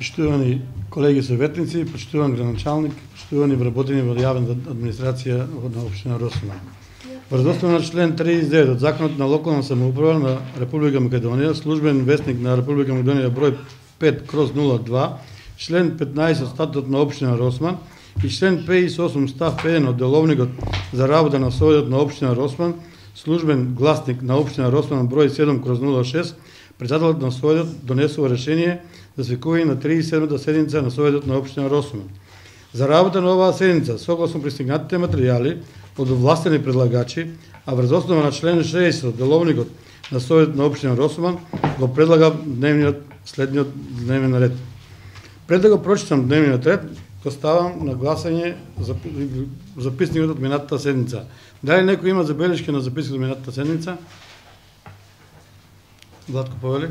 Почитувани колеги советници, почитуван градоначалник, почитувани вработени во јавната администрација на општина Росман. Врз основа на член 39 од Законот на локална самоуправа на Република Македонија, службен весник на Република Македонија број 5/02, член 15 од Статутот на општина Росман и член 58 став 1 од Деловникот за работа на Советот на општина Росман, службен гласник на општина Росман број 7/06, председателот на Советот донесува решение за свикување на 37-та седница на Советот на општина Росман. За работа на оваа седница, согласно пристигнатите материјали од овластени предлагачи, а врз основа на член 60 од Деловникот на Советот на општина Росман, го предлага следниот дневен ред. Пред да го прочитам дневниот ред, го ставам на гласање записникот од минатата седница. Дали некој има забелешки на записникот од минатата седница? Владко Повели.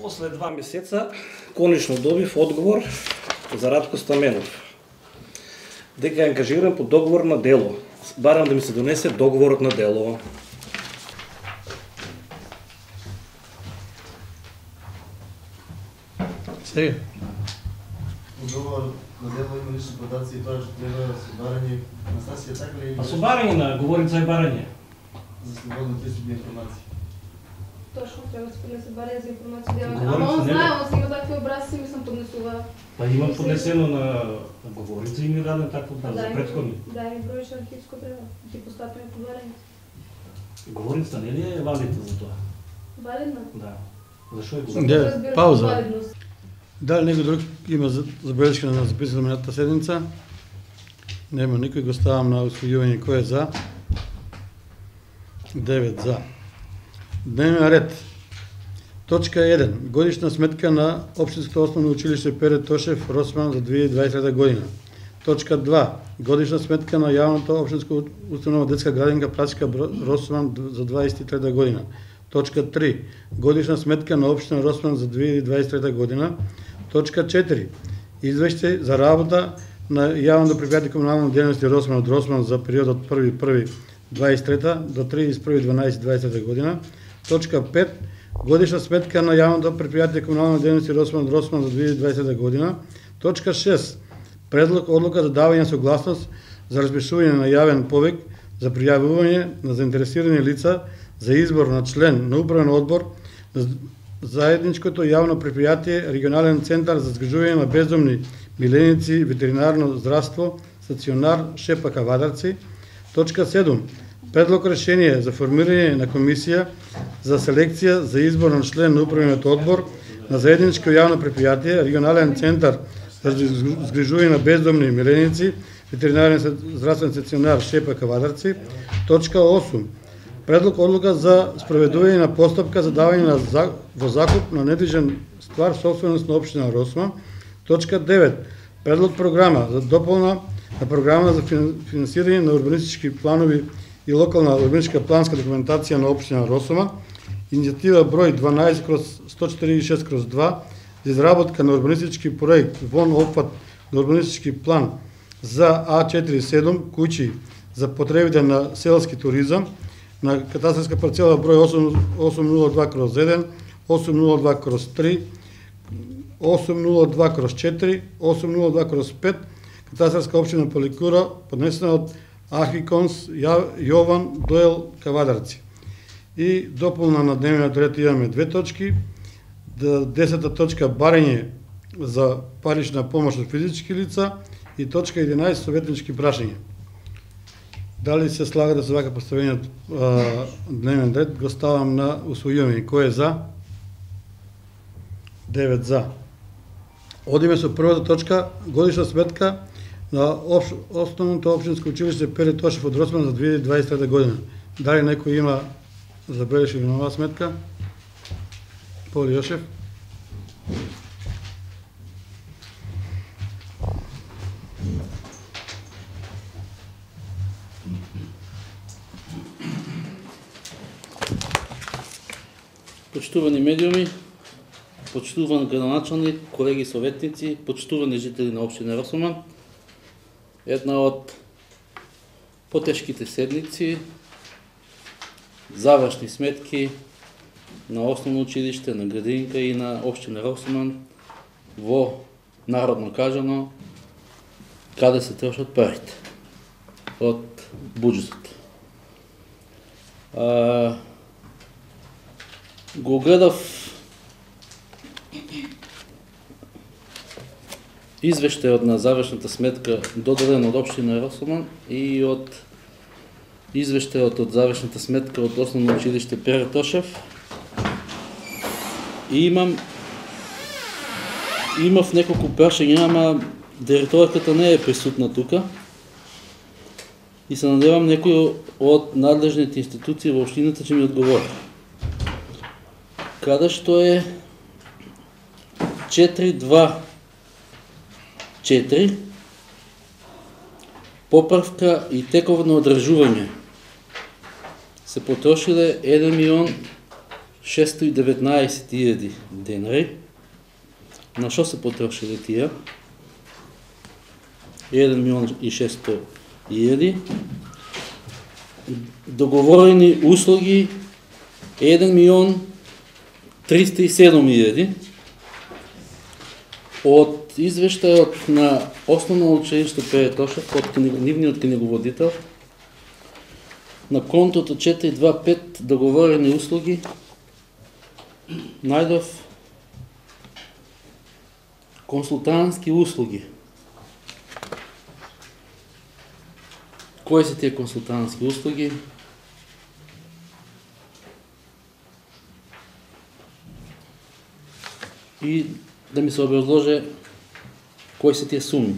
После 2 месеца, конечно добив одговор за Радко Стаменов, дека е ангажиран по договор на дело. Барам да ми се донесе договорот на дело. Сега. Договор на дело има лични подаци и тоа што треба собарање на стасија, така ли? А собарање на говорица и барање. За слободно пристап информации. Точно, треба да се барање за информација. Ама он знае, он си има такви образци, мислам, поднесува. Па има поднесено на говорица и ми даден такво за претходни. Да, ми бројиш архивско треба, ти постапиме по барање. Говорица не ли е валидна за тоа? Валидна? Да. Зашо е говорица? Да, пауза. Дали некој друг има забелешка на записано минатата седница? Нема никој, го ставам на усвојување. Кој е за? 9 за. Дневен ред. Точка 1. Годишна сметка на Општинското основно училиште Пере Тошев Росман за 2023 година. Точка 2. Годишна сметка на јавната општинска установа детска градинка Прачка Росман за 2023 година. Точка 3. Годишна сметка на општина Росман за 2023 година. Точка 4. Извештај за работа на јавното предпријатие комунална дејност Росман од Росман за периодот 1.1.23 до 31.12.23 година. Точка 5. Годишна сметка на јавното предпријатие комунална дејност Росман од Росман за 2020 година. Точка 6. Предлог одлука за давање согласност за распишување на јавен повик за пријавување на заинтересирани лица за избор на член на управен одбор на заедничкото јавно предпријатие Регионален центар за згрижување на бездомни миленици, ветеринарно здравство, стационар Шепа Кавадарци. Точка 7. Предлог решение за формирање на комисија за селекција за избор на член на управниот одбор на заедничко јавно предпријатие Регионален центар за згрижување на бездомни миленици, ветеринарен здравствен стационар Шепа Кавадарци. Точка 8. Предлог одлука за спроведување на постапка за давање во закуп на недвижен ствар собственост на општина Росман. Точка 9. Предлог програма за дополна на програма за финансирање на урбанистички планови и локална урбанистичка планска документација на општина Росман, иницијатива број 12/146/2 за изработка на урбанистички проект вон опфат на урбанистички план за А47 куќи за потребите на селски туризам на катастарска парцела број 802/1, 802/3, 802/4, 802/5, катастарска општина Поликура, поднесена од Архиконс Јован Доел Кавадарци. И дополна на дневниот ред имаме 2 точки. 10-та точка барање за парична помош од физички лица и точка 11 советнички прашања. Дали се слага да се вака поставениот дневен ред, го ставам на усвојување. Кој е за? 9 за. Одиме со првата точка, годишна сметка на основното општинско училиште Пере Тошев од Росман за 2023 година. Дали некој има забелешки на оваа сметка? Поли Јошев. Почитувани медиуми, почитуван градоначалник, колеги советници, почитувани жители на општина Росман, една од потешките седници, завршни сметки на основно училиште, на градинка и на општина Росоман во народно кажано каде се трошат парите од буџетот. Го гледав извештајот на завршната сметка додаден од општина Росоман и од извештајот од завршната сметка од основно училиште Пере Тошев. И имав неколку прашања, ама директорката не е присутна тука. И се надевам некој од надлежните институции во општината ќе ми одговори. Каде што е 4.2.4 поправка и тековно одржување се потрошиле 1.619.000 денари. На што се потрошиле тие? 1.600.000. Договорени услуги 1.307.000. Од извештајот на основно училиште Пере Тошев, од нивниот книговодител, на контото 425 договорени услуги најдов консултантски услуги. Кои се тие консултантски услуги? И да ми се образложе кои се тие суми.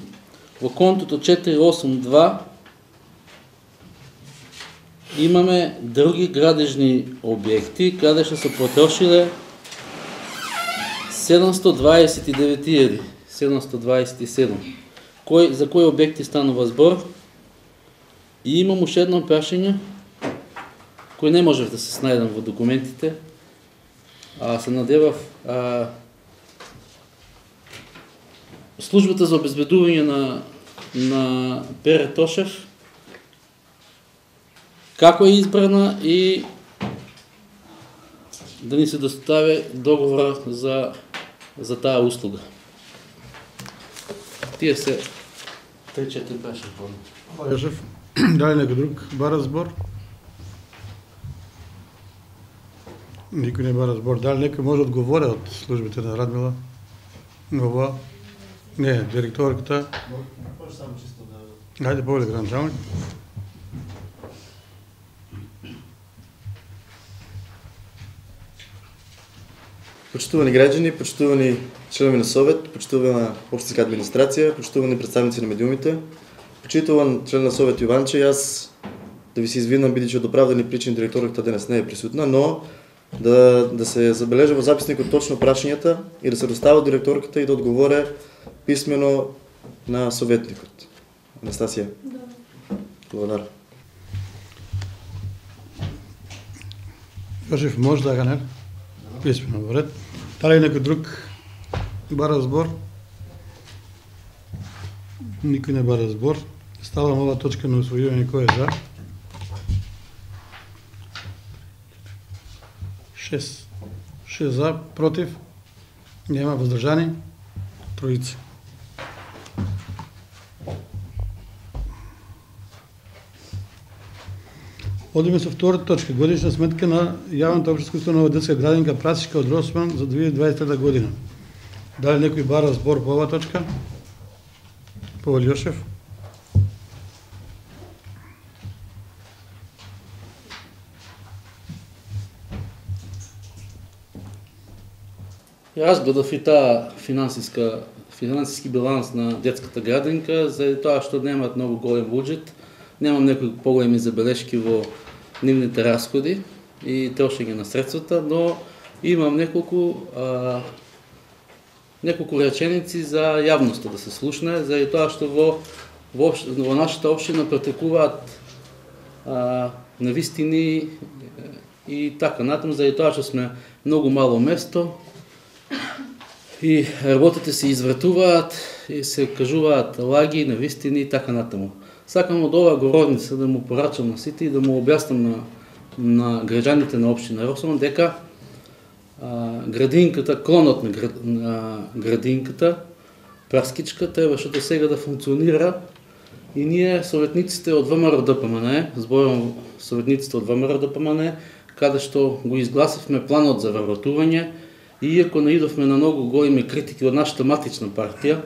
Во контото 482 имаме други градежни објекти, каде што се потрошиле 729.727. За кои објекти станува збор? И имам уште едно прашање, кој не можев да се снајдам во документите, а се надевав службата за обезбедување на Пере Тошев, како е избрана и да ни се достави договора за таа услуга. Тие се 3-4 прашања. Јошев, дали некој друг бара збор? Никој не бара збор. Дали некој може да одговори од службите на Радмила? Ова? Не, директорката. Може само чисто да... Ајде, повеќе гранчамак. Почитувани граѓани, почитувани членови на Совет, почитувана општинска администрација, почитувани представници на медиумите, почитуван член на Совет Јованче, јас да ви се извинам бидејќи од оправдани причини директорката денес не е присутна, но да се забележи во записникот точно прашањата и да се достава директорката и да одговоре писмено на советникот. Анастасија. Да. Благодарам. Јошев, може да ганер? Писмено во ред. Дали некој друг бара збор? Никој не бара збор. Ставам ова точка на усвојување, кој е за? 6 за, против? Нема, воздржани? 3. Одиме со втората точка. Годишна сметка на јавната општинска установа детска градинка Прасичка од Росман за 2023 година. Дали некој бара збор по оваа точка? Павел Јошев. Јас гледав и таа финансиски баланс на детската градинка, заради тоа што немаат многу голем буџет, немам некои поголеми забелешки во нивните расходи и трошење на средствата, но имам неколку реченици за јавноста да се слушне, заради тоа што во нашата општина претекуваат навистини и така натаму, заради тоа што сме многу мало место и работите се извратуваат и се кажуваат лаги, навистини и така натаму. Сакам од оваа говорница да му порачам на сите и да му објаснам на граѓаните на општина Росоман дека градинката, клонот на градинката, праскичка, требаше до сега да функционира и ние, советниците од ВМРО ДПМН, зборувам советниците од ВМРО ДПМН, каде што го изгласивме планот за вработување, и иако наидовме на многу големи критики од нашата матична партија,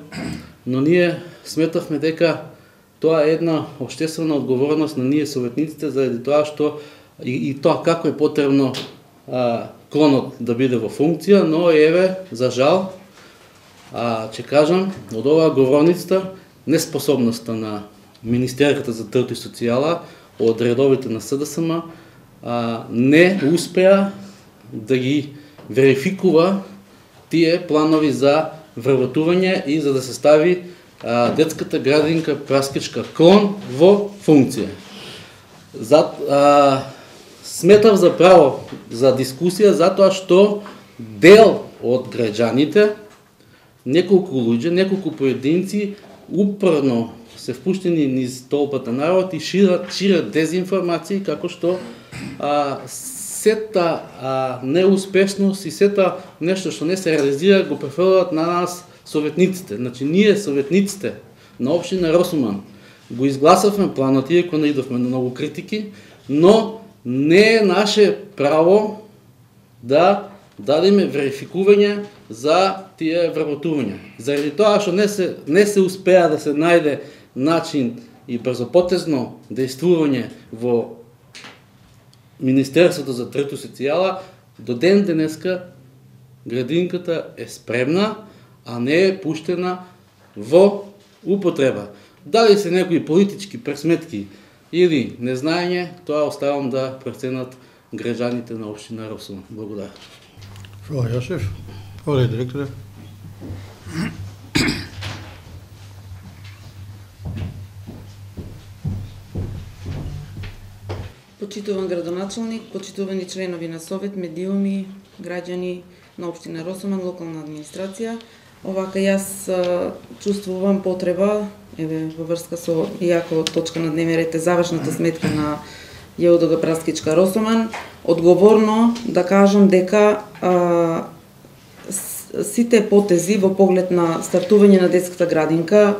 но ние сметавме дека тоа е една општествена одговорност на ние советниците заради тоа што и тоа како е потребно клонот да биде во функција, но еве, за жал, ќе кажам, од оваа говорница, неспособноста на Министерката за труд и социјала, од редовите на СДСМ, не успеа да ги верификува тие планови за вработување и за да се стави детската градинка праскичка клон во функција. Сметав за право за дискусија затоа што дел од граѓаните, неколку луѓе, неколку поединци упорно се впуштени низ толпата народ и шират дезинформации како што сета неуспешност и сета нешто што не се реализира го префрлат на нас советниците. Значи ние советниците на општина Росуман го изгласавме планот, иако наидовме на многу критики, но не е наше право да дадеме верификување за тие вработувања. Заради тоа што не се успеа да се најде начин и брзопотезно действување во Министерството за труд и социјала, до ден денеска градинката е спремна, а не е пуштена во употреба. Дали се некои политички пресметки или незнаење, тоа оставам да преценат граѓаните на општина Росуман. Благодарам. Фала Јошев. Оле, директоре. Почитуван градоначалник, почитувани членови на Совет, медиуми, граѓани на општина Росуман, локална администрација. Овака јас чувствувам потреба, еве во врска со иако точка на дневен ред е завршната сметка на ЈОДГ Праскичка Росуман, одговорно да кажам дека сите потези во поглед на стартување на детската градинка,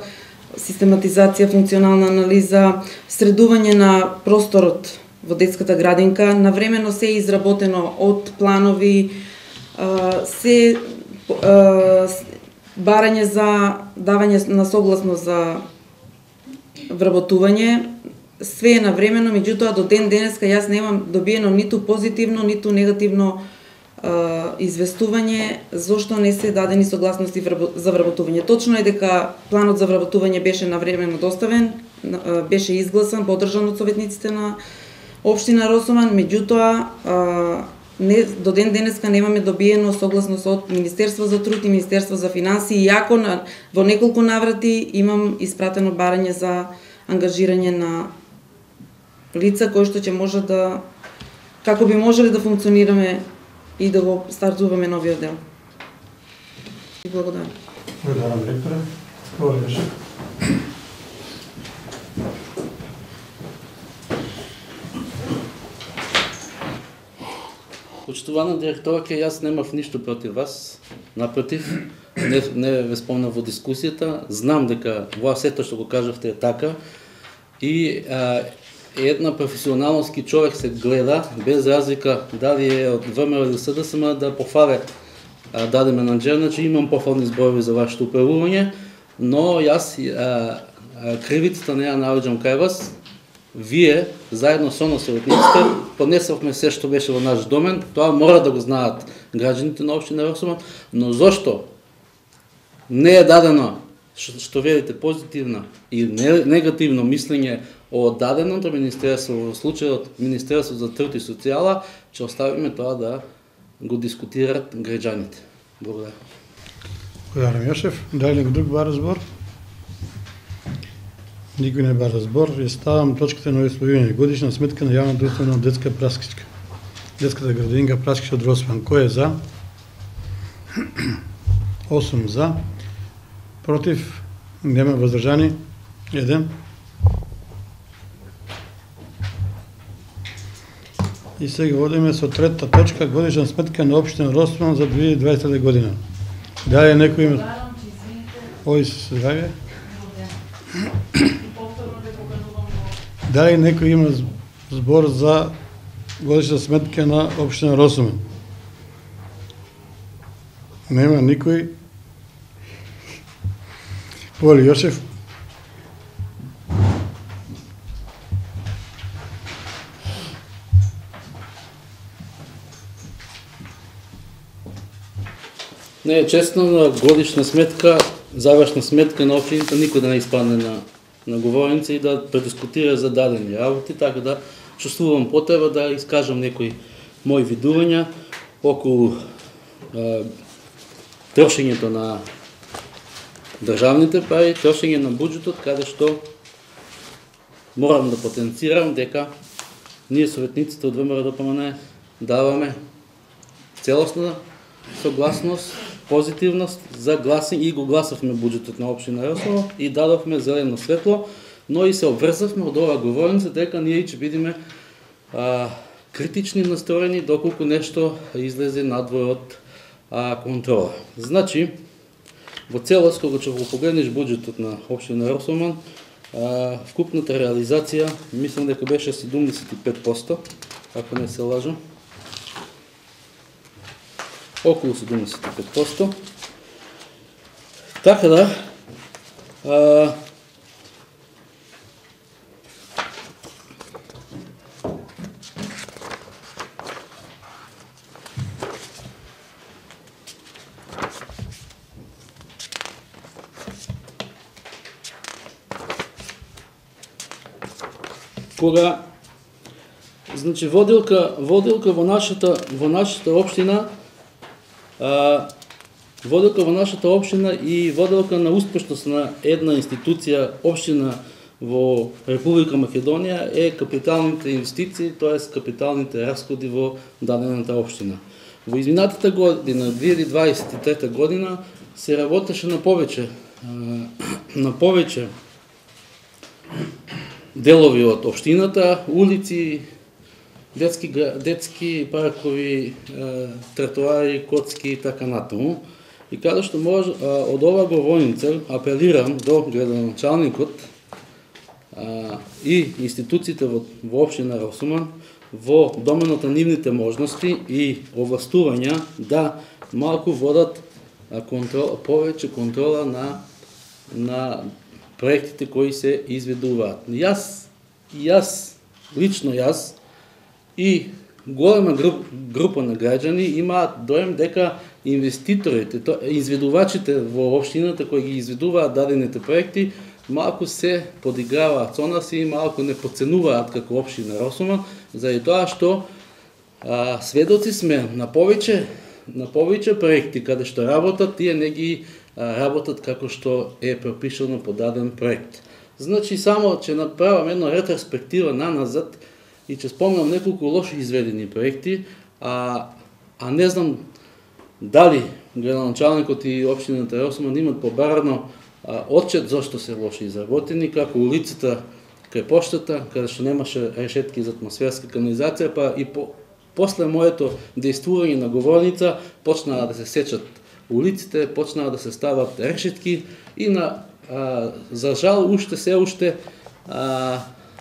систематизација, функционална анализа, средување на просторот во детската градинка, навремено се изработено од планови, се барање за давање на согласност за вработување, све е навремено, меѓутоа до ден денеска јас немам добиено ниту позитивно, ниту негативно известување зошто не се дадени согласности за вработување. Точно е дека планот за вработување беше навремено доставен, беше изгласан, поддржан од советниците на општина Росуман, меѓутоа до ден денеска немаме добиено согласност од Министерство за труд и Министерство за финансии, иако во неколку наврати имам испратено барање за ангажирање на лица кои што ќе може да, како би можеле да функционираме и да го стартуваме новиот дел. И благодарам. Благодарам, директоре. Оле, Јошев. Почитувана директорка, јас немав ништо против вас. Напротив, не ве спомнав во дискусијата. Знам дека во сето што го кажавте е така. И една професионалноски човек се гледа, без разлика дали е од ВМРО или СДСМ, да пофале даде менаџер, значи имам пофални зборови за вашето управување, но јас кривицата не ја навоѓам кај вас. Вие, заедно со нас советниците, поднесовме се што беше во наш домен, тоа мора да го знаат граѓаните на општина Росуман, но зошто не е дадено, што видите, позитивно и негативно мислење од даденото министерство, во случајот Министерство за труд и социјала, ќе оставиме тоа да го дискутираат граѓаните. Благодарам. Благодарам, Јошев. Дали друг бара збор? Никој не бара збор. Ја ставам точката на освојување. Годишна сметка на јавна друштвена детска праскичка. Детската градинка Праскичка од Росуман. Кој е за? 8 за. Против? Нема. Воздржани? 1. И сега одиме со трета точка, годишна сметка на општина Росман за 2020 година. Дали некој има... Ој, здравје. Дали некој има збор за годишна сметка на општина Росман? Нема никој. Воли Јошев. Не е честно на годишна сметка, завршна сметка на општините никој да не испадне на говорница и да предискутира за дадени работи, така да чувствувам потреба да искажам некои мои видувања околу трошењето на државните пари, трошење на буџетот, каде што морам да потенцирам дека ние советниците од ВМРО-ДПМН даваме целосна согласност, позитивност за гласење и го гласавме буџетот на општина Росово и дадовме зелено светло, но и се обврзавме од оваа говорница дека ние ќе бидеме критични настроени доколку нешто излезе надвор од контрола. Значи, во целост, кога ќе го погледнеш буџетот на општина Росоман, вкупната реализација, мислам дека беше 75%, ако не се лажам. Околу 75%. Така да, кога значи воделка во нашата општина, воделка во нашата општина и воделка на успешност на една институција општина во Република Македонија е капиталните инвестиции, т.е. капиталните расходи во дадената општина. Во изминатата година, 2023 година, се работеше на повеќе делови од општината, улици, детски паркови, тротоари, коцки и така натаму. И каде што може од оваа говорница апелирам до градоначалникот и институциите во општина Росоман во доменот на нивните можности и овластувања да малку водат повеќе контрола на проектите кои се изведуваат. Лично јас и голема група на граѓани имаат доем дека инвеститорите, изведувачите во општината кои ги изведуваат дадените проекти, малку се подиграваат со нас и малку не подценуваат како општина Росоман, заради тоа што сведоци сме на повеќе проекти каде што работат, тие не ги работат како што е пропишано по даден проект. Значи, само ќе направам една ретроспектива наназад и ќе спомнам неколку лоши изведени проекти, а не знам дали градоначалникот и општината Росоман имат побарано отчет зашто се лоши изработени, како улицата кај поштата, каде што немаше решетки за атмосферска канализација, па и после моето дејствување на говорница почнаа да се сечат улиците, почнаа да се стават решетки и за жал уште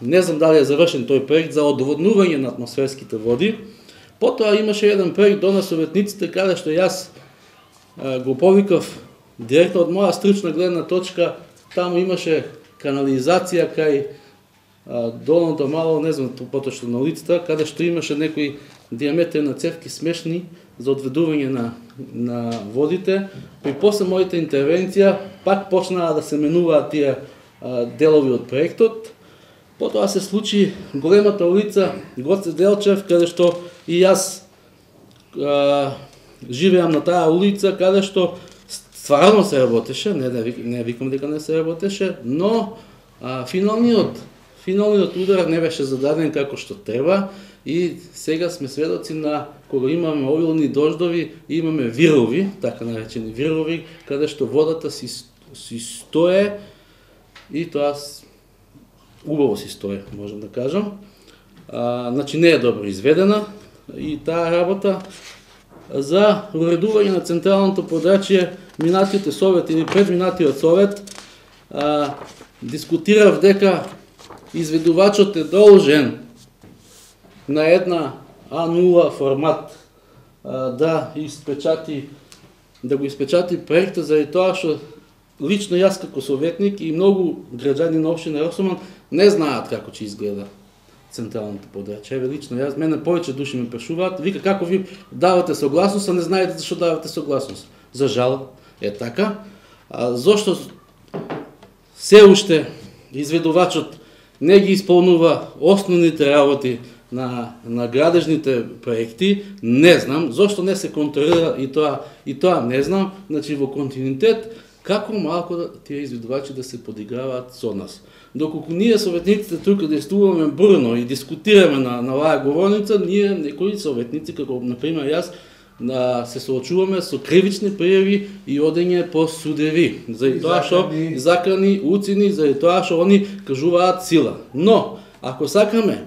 не знам дали е завршен тој проект за одводнување на атмосферските води. Потоа имаше еден проект до на советниците каде што јас го повикав директно од моја стручна гледна точка, таму имаше канализација кај долното мало, не знам поточно на улицата, каде што имаше некои диаметри на цевки смешни за одведување на водите. При после мојата интервенција пак почнаа да се менуваат тие делови од проектот. Потоа се случи големата улица Гоце Делчев, каде што и јас живеам на таа улица, каде што стварно се работеше, не викам дека не се работеше, но финалниот удар не беше зададен како што треба и сега сме сведоци на кога имаме обилни дождови, имаме вирови, така наречени вирови, каде што водата си стое и тоа убаво си стое, можам да кажам. Значи не е добро изведена, и таа работа за уредување на централното подрачје. Минатиот совет или предминатиот совет дискутирав дека изведувачот е должен на една А0 формат да го испечати проектот, заради тоа што лично јас како советник и многу граѓани на општина Росоман не знаат како ќе изгледа централното подрачје. Еве лично јас, мене повеќе души ме прашуваат, вика како ви давате согласност, а не знаете зашто давате согласност. За жал е така. Зошто се уште изведувачот не ги исполнува основните работи на градежните проекти, не знам. Зошто не се контролира и тоа не знам. Значи во континуитет како малку тие изведувачи да се подиграваат со нас. Доколку ние советниците тука действуваме бурно и дискутираме на оваа говорница, ние некои советници, како например јас, се соочуваме со кривични пријави и одење по судеви. Заради тоа што закани, уцини, заради тоа што они кажуваат сила. Но, ако сакаме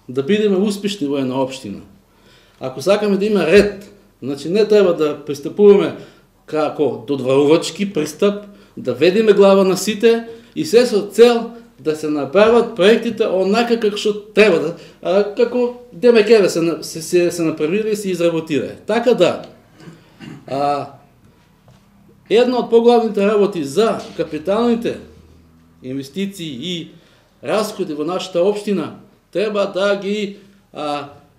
да бидеме успешни во една општина, ако сакаме да има ред, значи не треба да пристапуваме како додварувачки пристап, да ведеме глава на сите и се со цел да се направат проектите онака како што треба, како ДМК се направили и се изработира. Така да, една од поглавните работи за капиталните инвестиции и расходи во нашата општина треба да ги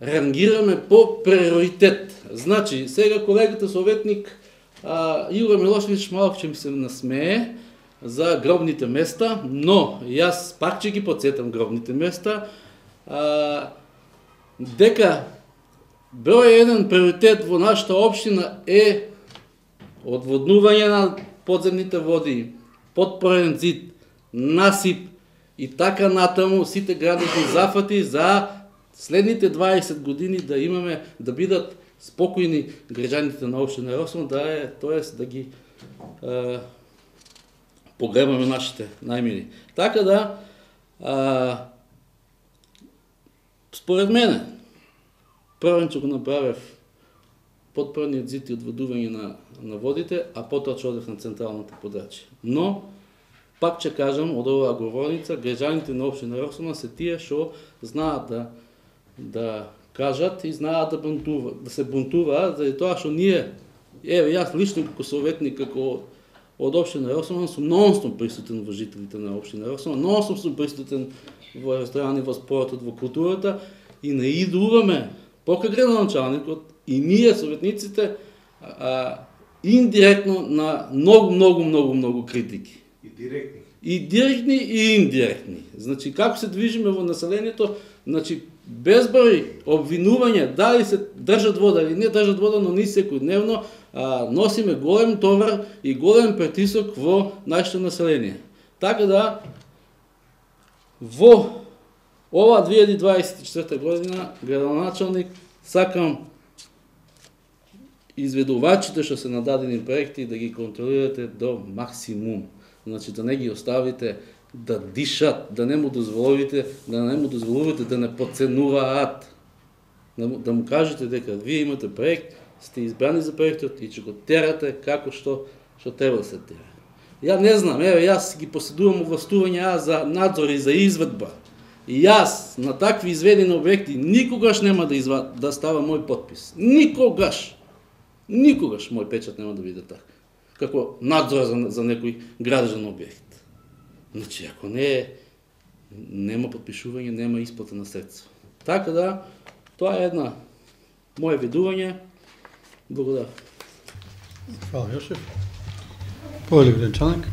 рангираме по приоритет. Значи, сега колегата советник Игор Милошевич малку ќе ми се насмее за гробните места, но јас пак ќе ги подсетам гробните места, дека број еден приоритет во нашата општина е одводнување на подземните води, подпорен зид, насип и така натаму сите градежни зафати за следните 20 години да имаме, да бидат спокојни граѓаните на општина Росоман, тоест да ги погребаме нашите најмили. Така да, според мене, првен ќе го направев подпорниот зид и одводување на водите, а потоа ќе одев на централното подрачје. Но, пак ќе кажам, од оваа говорница, граѓаните на општина Росоман се тие што знаат да кажат и знаат да се бунтуваат, заради тоа што ние, еве јас лично како советник, како од општина Росоман сум нонстop присутен во жителите на општина Росоман, нонстop сум присутен во ресторани, во спортот, во културата и наидуваме покрај градоначалникот и ние советниците индиректно на многу критики. И директни и индиректни. Значи како се движиме во населението, значи безброј обвинување дали се држат вода или не држат вода, но ние секојдневно носиме голем товар и голем притисок во нашето население. Така да, во ова 2024 година, градоначалник, сакам изведувачите што се на дадени проекти да ги контролирате до максимум. Значи да не ги оставите да дишат, да не му дозволите да не подценуваат. Да му кажете дека вие имате проект, сте избрани за проектот и ќе го терате како што треба да се тера. Ја не знам, еве јас ги поседувам овластувања за надзор и за изведба. И јас на такви изведени објекти никогаш нема да става мој подпис. Никогаш мој печат нема да биде така. Како надзор за некој градежен објект. Значи, ако нема подпишување, нема исплата на средства. Така да, тоа е една моје видување. Благодарам. Фала, Јошев. Повели градоначалник.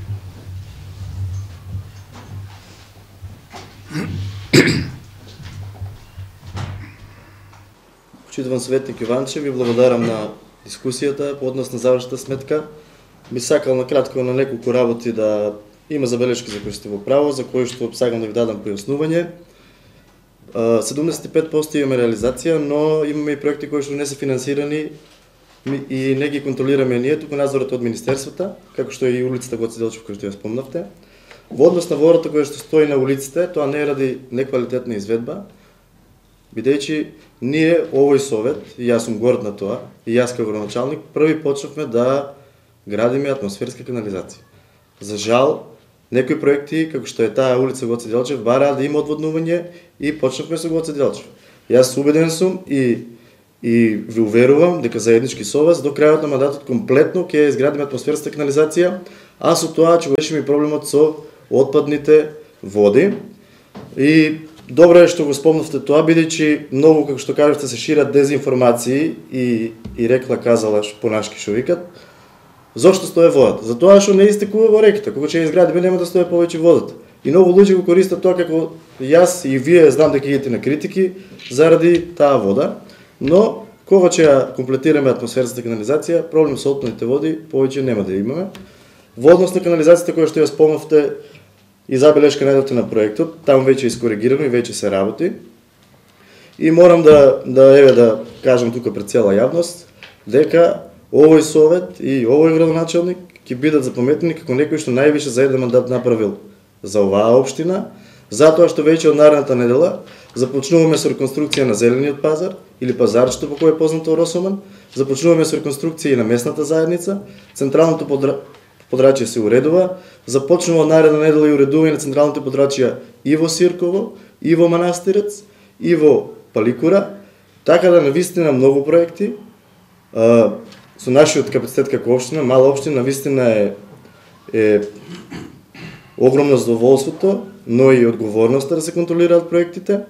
Почитуван советник Јованче, ви благодарам на дискусијата по однос на завршната сметка. Би сакал на кратко на неколку работи да има забелешки за кои сте во право, за кои што сакам да ви дадам појаснување. 75% имаме реализација, но имаме и проекти кои што не се финансирани и не ги контролираме ние, туку надзорот од министерствата, како што е и улицата Гоце Делчев, која што ја спомнавте. Во однос на водата која што стои на улиците, тоа не е ради неквалитетна изведба, бидејќи ние овој совет, и јас сум горд на тоа, и јас како градоначалник, први почнавме да градиме атмосферска канализација. За жал, некои проекти, како што е таа улица Гоце Делчев, бараа да има одводнување и почнавме со Гоце Делчев. Јас убеден сум и ви уверувам дека заеднички со вас до крајот на мандатот комплетно ќе изградиме атмосферска канализација, а со тоа ќе го решиме и проблемот со отпадните води. И добро е што го спомнавте тоа, бидејќи многу, како што кажавте, се шират дезинформации и рекла казала понашки што викат. Зошто стои водата? Затоа што не истекува во реките. Кога ќе изградиме нема да стои повеќе водата. И многу луѓе го користат тоа како јас и вие знам дека идете на критики заради таа вода, но кога ќе ја комплетираме атмосферската канализација, проблем со отпадните води повеќе нема да имаме. Во однос на канализацијата која што ја спомнавте и забелешка најдете на проектот, таму веќе е искоригирано и веќе се работи. И морам да кажам тука пред цела јавност дека овој совет и овој градоначалник ќе бидат запаметени како некој што највише за еден мандат направил за оваа општина, затоа што веќе од наредната недела започнуваме со реконструкција на зелениот пазар или пазарчето по кој е познато Росоман, започнуваме со реконструкција и на местната заедница, централното подрачје се уредува, започнува од наредна недела и уредување на централните подрачја и во Сирково, и во Манастирец, и во Паликура, така да навистина многу проекти. Со нашиот капацитет како општина, мала општина, навистина е огромно задоволството, но и одговорноста да се контролираат проектите.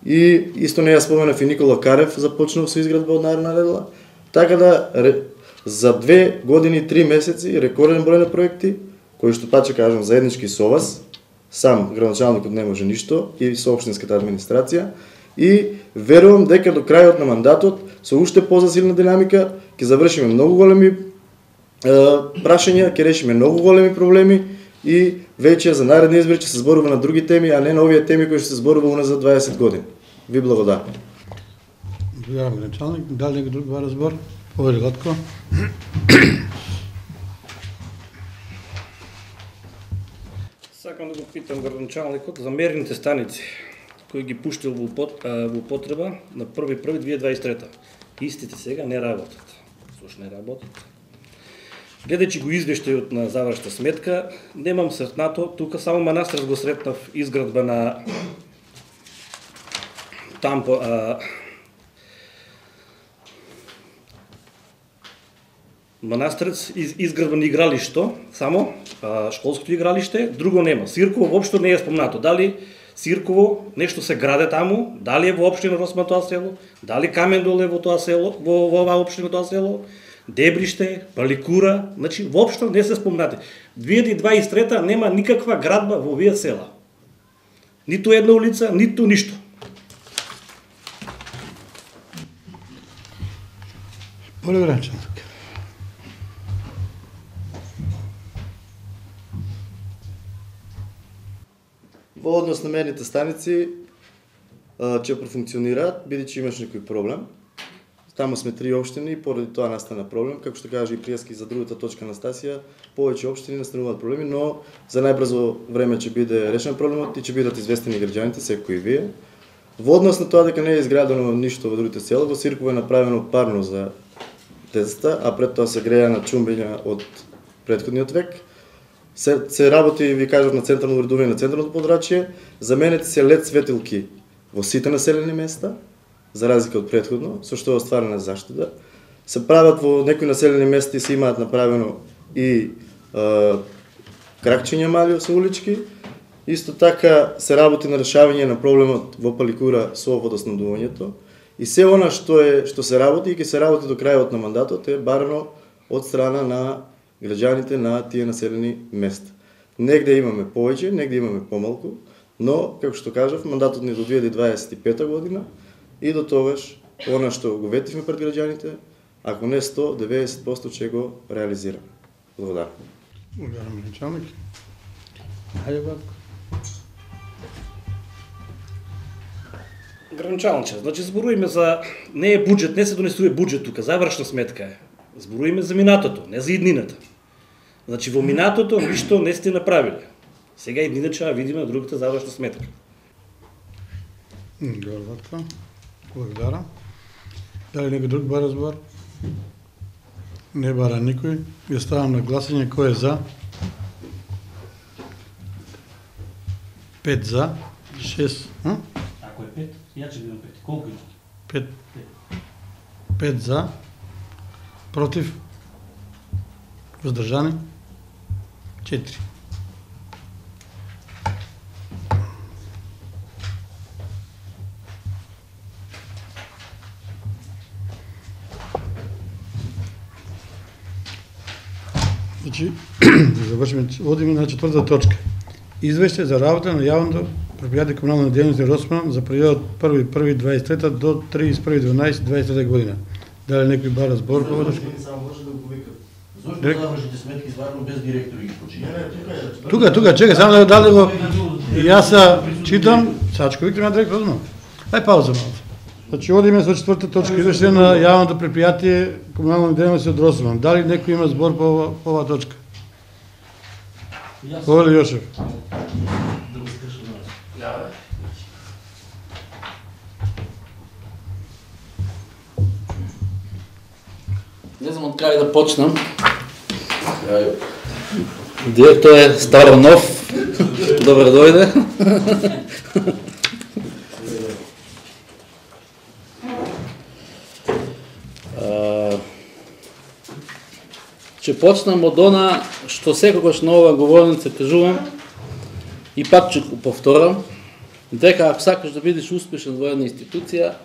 И исто не ја споменав и Никола Карев започнал со изградба од наредна недела. Така да за 2 години и 3 месеци рекорден број на проекти, кои што пак ќе кажам заеднички со вас, сам градоначалникот не може ништо и со општинската администрација. И верувам дека до крајот на мандатот со уште позасилна динамика ќе завршиме многу големи прашања, ќе решиме многу големи проблеми и веќе за наредни избори ќе се зборува на други теми, а не на овие теми кои што се зборува уназад 20 години. Ви благодарам. Благодарам, градоначалник. Дали некој друг разбор? Повели Латко. Сакам да го питам градоначалникот за мерните станици кои ги пуштил во употреба на 1.1.2023. Истите сега не работат. Зошто не работат? Гледајќи го извештајот на завршна сметка, немам сретнато, тука само Манастирец го сретнав изградба на Манастирец изградба на игралишто, само школското игралиште, друго нема. Сирково воопшто не е спомнато. Дали Сирково нешто се граде таму, дали е во општина Росман тоа село, дали Камендол е во тоа село, во оваа општина тоа село, Дебриште, Паликура, значи воопшто не се спомнати. 2023 нема никаква градба во овие села. Ниту една улица, ниту ништо. Полегранчанок. Во однос на мерните станици ќе профункционираат, бидејќи имаш некој проблем. Таму сме 3 општини и поради тоа настана проблем, како што кажа и Пријаски за другата точка Анастасија, повеќе општини настануваат проблеми, но за најбрзо време ќе биде решен проблемот и ќе бидат известени граѓаните, секој и вие. Во однос на тоа дека не е изградено ништо во другите села, во Сирково е направено парно за децата, а пред тоа се греја на чумбиња од претходниот век. Се работи, ви кажав, на централно уредување на централното подрачје, заменети се лед светилки во сите населени места, за разлика од претходно, со што е остварена заштита. Се прават во некои населени места и се имаат направено и кракчиња мали со улички. Исто така се работи на решавање на проблемот во Паликура со водоснабдувањето. И се она што се работи и ќе се работи до крајот на мандатот е барано од страна на граѓаните на тие населени места. Негде имаме повеќе, негде имаме помалку, но, како што кажав, мандатот ни до 2025 година и до тогаш, она што го ветивме пред граѓаните, ако не 100, 90% ќе го реализираме. Благодарам. Благодарам, началник. Хајде, Ватко. Гранчалниче, значи зборуваме за не е буџет, не се донесува буџет тука, завршна сметка е. Зборуваме за минатото, не за иднината. Значи во минатото ништо не сте направиле. Сега иднината ќе видиме на другата завршна сметка. Добро, Ватко. Благодарам. Дали некој друг бара збор? Не бара никој. Ја ставам на гласање. Кој е за? 5 за, 6, Ако е 5, ја ќе бидам 5. Колку има? 5 за, против, воздржани, 4. Значи, да завршиме, одиме на 4-та точка. Извеќе за работа на јавното предпријатие комунална дејност Росман за периодот 1.1.23 до 31.12.23 година. Дали некој бара збор по оваа точка? Само може да го вика. Зошто завршите сметки стварно без директори ги почињате? Тука, чекај, само да дали го. Јас читам, Сачко Виктор на директор одно. Ај пауза малку. Значи одиме со 4-та точка, извеќе на јавното предпријатие комунална дејност од Росман. Дали некој има збор по оваа точка? Оле Јошев. Да го скажам. Не знам од кај да почнам. Директор е старо нов. Добро дојде. Ќе почнам од она што секогаш на оваа говорница кажувам и пак ќе го повторам, дека ако сакаш да бидеш успешен во една институција,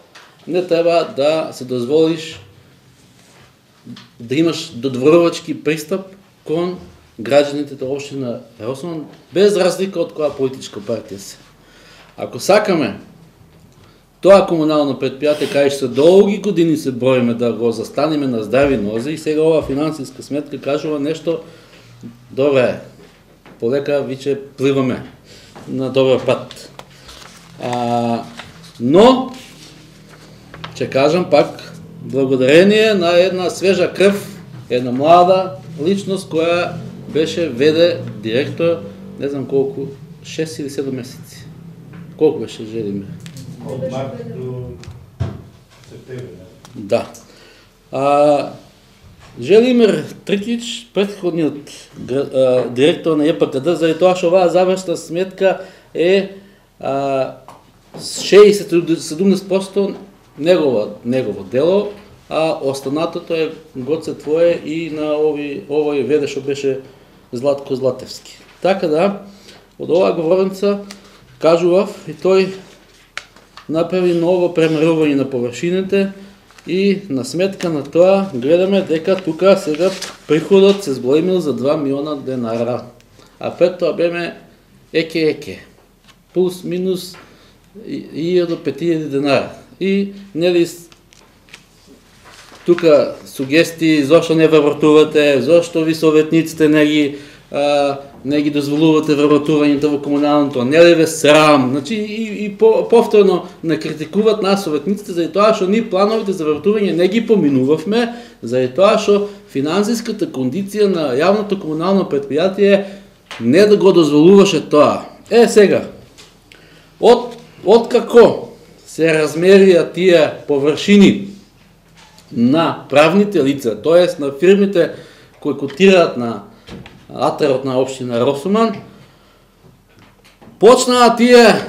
не треба да се дозволиш да имаш додворувачки пристап кон граѓаните на општина Росман, без разлика од која политичка партија се. Ако сакаме тоа комунално предпријатие, кај што долги години се бориме да го застанеме на здрави нозе, и сега ова финансиска сметка кажува нешто, добре, полека виче пливаме на добар пат. Но, ќе кажам пак, благодарение на една свежа крв, една млада личност која беше веде директор, не знам колку, 6 или 7 месеци. Колку беше Желимир? Од март до септември. Да. Желимир Трикич, претходниот директор на ЕПКД, заради тоа што оваа завршна сметка е 60-70% негово дело, а останатото е гоце твое и на овој веде што беше Златко Златевски. Така да, од оваа говорница кажував и тој направи ново премерување на површините и на сметка на тоа гледаме дека тука сега приходот се зголемил за 2 милиона денара, а пред тоа беме еке, плюс минус 1.500 денара. И нели тука сугестии зошто не вработувате, зошто ви советниците не ги дозволувате вработувањето во комуналното, не ли ве срам, значи и повторно не критикуват нас советниците заради тоа што ние плановите за вработување не ги поминувавме, заради тоа што финансиската кондиција на јавното комунално предпријатие не да го дозволуваше тоа. Сега, од како се размерија тие површини на правните лица, тоест на фирмите кои котираат на атарот на општина Росман, почнаа тие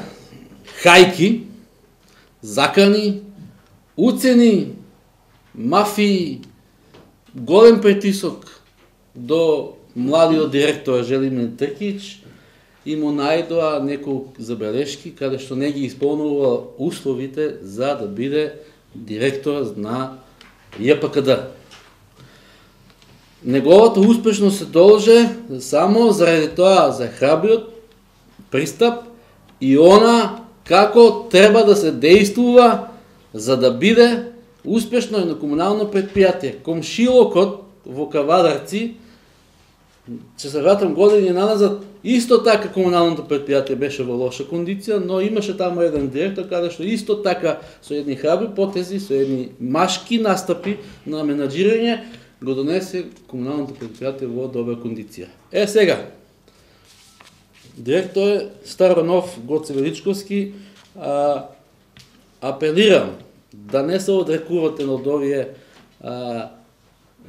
хајки, закани, уцени, мафии, голем притисок до младиот директор Желимир Тркич и му најдоа неколку забелешки каде што не ги исполнува условите за да биде директор на ЈПКД. Неговата успешност се должи само заради тоа за храбриот пристап и она како треба да се действува за да биде успешно едно комунално предпријатие. Комшилокот во Кавадарци, че се вратам години назад, исто така комуналното предпријатие беше во лоша кондиција, но имаше таму еден директор каде што исто така со едни храбри потези, со едни машки настапи на менаџирање го донесе комуналното предпријатие во добра кондиција. Сега, директор е Старонов Гоце Величковски, апелирам да не се одрекувате од овие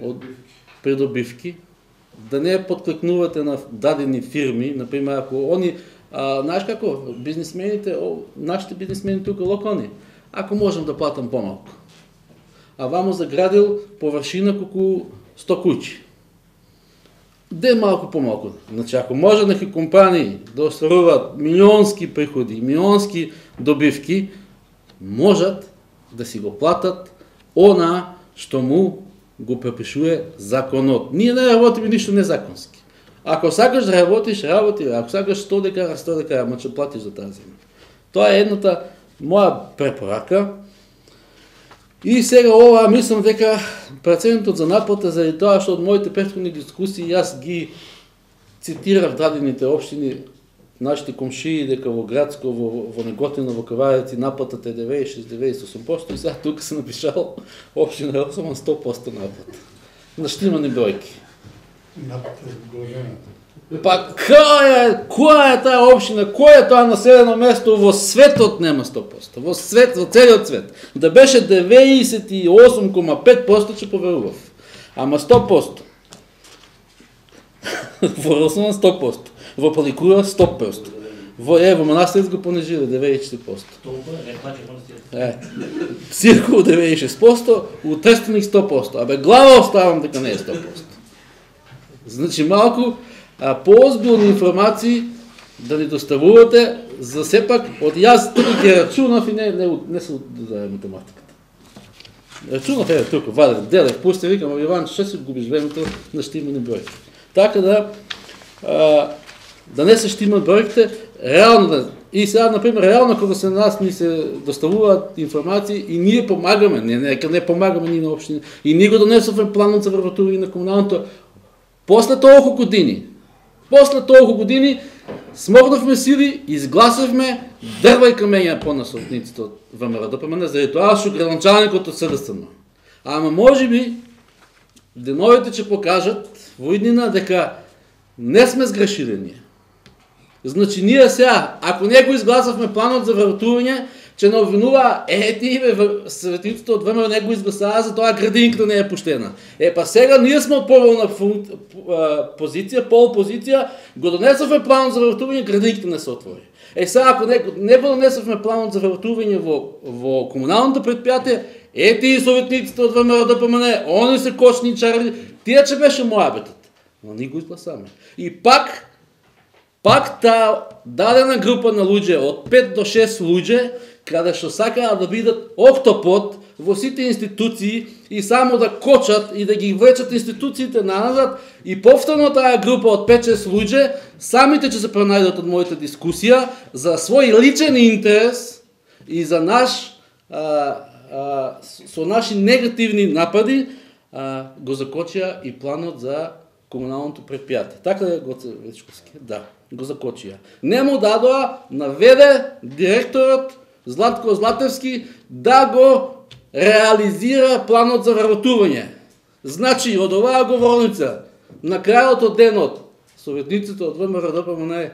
од придобивки, да не подкликнувате на дадени фирми, например, ако они, знаеш како, бизнисмените, нашите бизнисмени тука локални, ако можем да платам помалку, а вамо заградил површина колку 100 куќи. Де малку помалку. Значи, ако може неки компании да остваруваат милионски приходи, милионски добивки, можат да си го платат она што му го препишува законот. Ние не работиме ништо незаконски. Ако сакаш да работиш, работи. Ако сакаш 100 декара, 100 декара, ама ќе платиш за тази земја. Тоа е едната моја препорака. И сега ова, мислам дека процентот за наплата, заради тоа што од моите претходни дискусии јас ги цитирав дадените општини, нашите комшии, дека во Градско, во Неготино, во Кавареци наплатата е 96-98%, и сега тука се напишал општина Росоман 100% наплата. На штимани бројки. Наплата е големата. Па која е таа општина, кој е тоа населено место во светот нема 100%, во целиот свет. Да беше 98,5% ќе поверував. Ама 100%. Во Росоман 100%. Во Паликура 100%. Во Манастирец го понижили 94%. Цирку 96%, у Трстеник 100%. Абе глава оставам дека не е 100%. Значи малку поозбилни информации да ни доставувате, за сепак од јас тука ги рачунав и не се за математиката. Рачунав тука, вадев, делев, пусте, викам, Иван, што си губиш времето на штимани бројки. Така да не се штимат бројките, реално да... И сега, например, реално кога се нас ни се доставуваат информации и ние помагаме, не помагаме ние на општина, и ние го донесовме планот за вработување на комуналното. После толку години смогнавме сили, изгласавме дрва и камења по насотниците од ВМРО-ДПМН, заради тоа што градоначалникот од СДСМ. Ама можеби деновите ќе покажат во иднина дека не сме сгрешили ние. Значи ние сега, ако не го изгласавме планот за вработување, ќе не обвинува светиците од ВМРО не го изгласаа, за тоа градинката не е пуштена. Па сега ние сме од поволна позиција, полпозиција, го донесовме планот за вработување, градинката не се отвори. Сега ако не го донесовме планот за вработување во комуналното предпријатие, тие советниците од ВМРО-ДПМН, они се кочни чарли, тие ќе беше мојабетот. Но ние го изгласаме. И пак таа дадена група на луѓе, од 5 до 6 луѓе, каде што сакаат да бидат октопод во сите институции и само да кочат и да ги влечат институциите назад, и повторно таа група од 5-6 луѓе, самите ќе се пронајдат од мојата дискусија за свој личен интерес и за со наши негативни напади, го закочија и планот за комуналното предпријатие. Така е, Гоце Вечковски? Да, го закочија. Не му дадоа, наведе директорот Златко Златевски да го реализира планот за вработување. Значи, од оваа говорница, на крајот од денот, советниците од ВМРО-ДПМН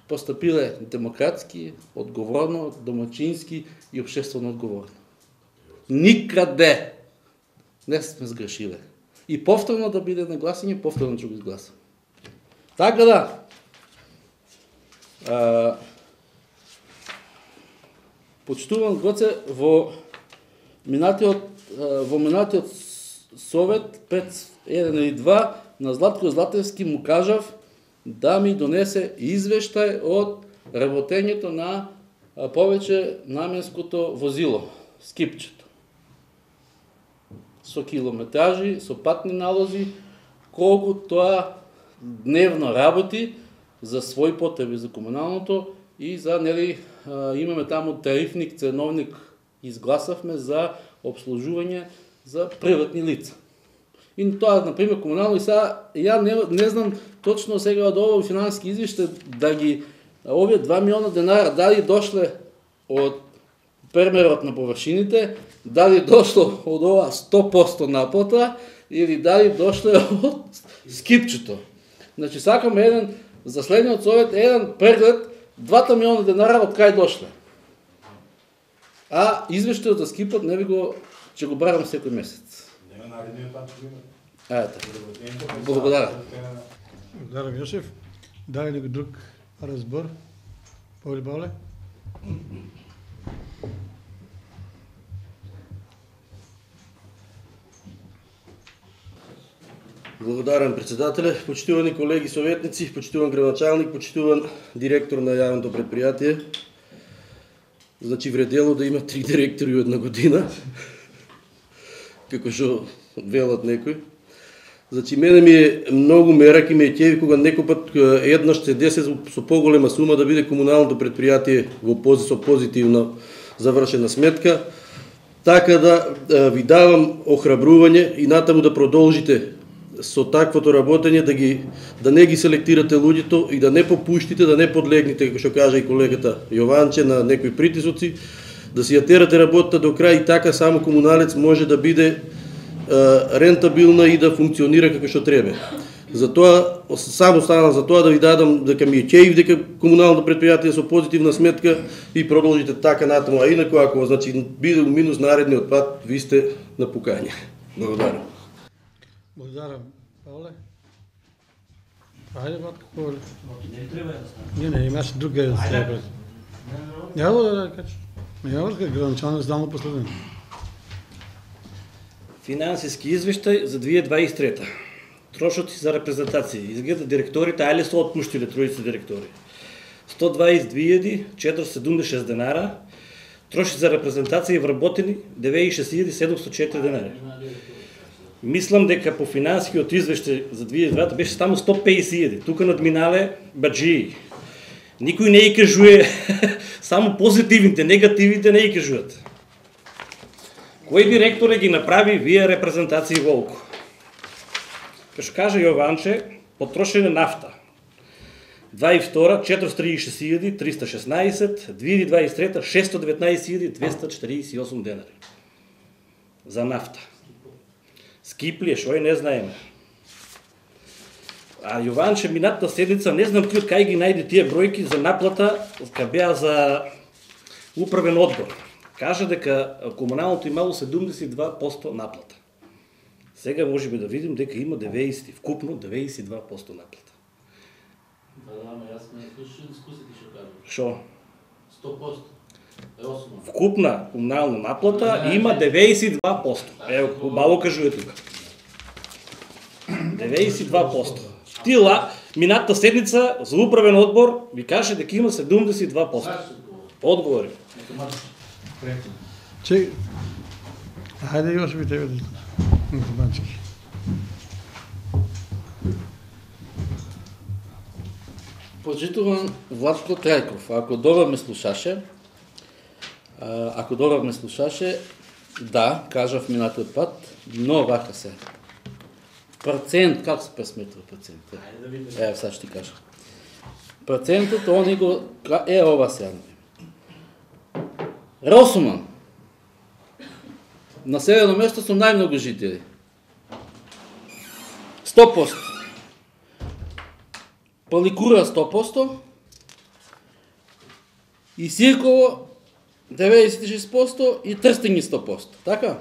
постапиле демократски, одговорно, домачински и општествено одговорно. Никаде не сме сгрешиле. И повторно да биде на гласање, повторно ќе го изгласам. Така да, почитувам Гоце, во минатиот совет, пред 1 или 2, на Златко Златевски му кажав да ми донесе извештај од работењето на повеќе наменското возило, скипчето. Со километражи, со патни налози, колку тоа дневно работи за свој потреби за комуналното и за, имаме таму тарифник, ценовник, изгласавме за обслужување за приватни лица. И тоа, например, комунално, и сега, ја не знам точно сега од овој финансиски извештај, да ги, овие 2 милиона денара, дали дошле од премерот на површините, дали дошло од ова 100% наплата, или дали дошле од скипчето. Значи, сакаме за следниот совет, еден преглед, 2 милиона денара од кај дошле. А извештајот за скипот не ви го, ќе го барам секој месец. Нема наредниот пат ќе има. Ето. Благодарам. Благодарам, Јошев. Дали некој друг разбор? Павле? Благодарам председателе, почитувани колеги советници, почитуван градоначалник, почитуван директор на јавното предпријатие. Значи вредело да има 3 директори од една година, како што велат некој. Значи мене ми е многу мерак и ме е ќеви кога некој пат еднаш се деси со поголема сума да биде комуналното предпријатие со позитивна завршена сметка. Така да ви давам охрабрување и натаму да продолжите со таквото работење, да не ги селектирате луѓето и да не попуштите, да не подлегнете, како што кажа и колегата Јованче, на некои притисоци, да си ја терате работата до крај и така само комуналец може да биде рентабилна и да функционира како што треба. Затоа, само станам за тоа да ви дадам дека ми е ќеив дека комуналното предпријатие со позитивна сметка и продолжите така натаму, а инаку ако значи биде минус наредниот пат, ви сте на пукање. Благодарам. Благодарам, Павле. Ајде, Ватко, Павле. Не треба да стане. Не, имаше друг да се направи. Ја да кажеш. Ја да градоначалник здално последен. Финансиски извештај за 2023. Трошоци за репрезентација. Изгледа директорите, ајле се отпуштиле тројца директори. 122.476 денара. Троши за репрезентација и вработени 96.704 денари. Мислам дека по финансискиот извештај за 2002 беше само 150.000. Тука надминале баджии. Никој не ги кажуе само позитивните, негативните не ги кажуат. Кој директор ги направи вие репрезентации волку? Кај што кажа Јованче, потрошене нафта. 22 436.316, 2023 619.248 денари. За нафта. Скиплие, шој не знаеме. А Јованче минатата седница, не знам ти од кај ги најде тие бројки за наплата, кај беа за управен одбор. Кажа дека комуналното имало 72% наплата. Сега може би да видим дека има 90, вкупно 92% наплата. Ама јас ме слушам дискусијата што кажам. Шо? 100%. Росуман. Вкупна комунална наплата има 92%. Ево, убаво кажуе тука. 92%. Тила, минатата седница за управен одбор ви каже дека има 72%. Одговори. Че, ајде још би тебе да Банчки. Почитуван Владко Трајков, ако добро ме слушаше, да, кажав минатиот пат, но вака се. Процент, како се пресметува процент? Ево, сега ще ти кажа. Процентот, они го, ова сега. Росуман. Населено место со најмногу жители. 100%. Паликура 100%. И Сирково 96% и Трстење 100%. Така?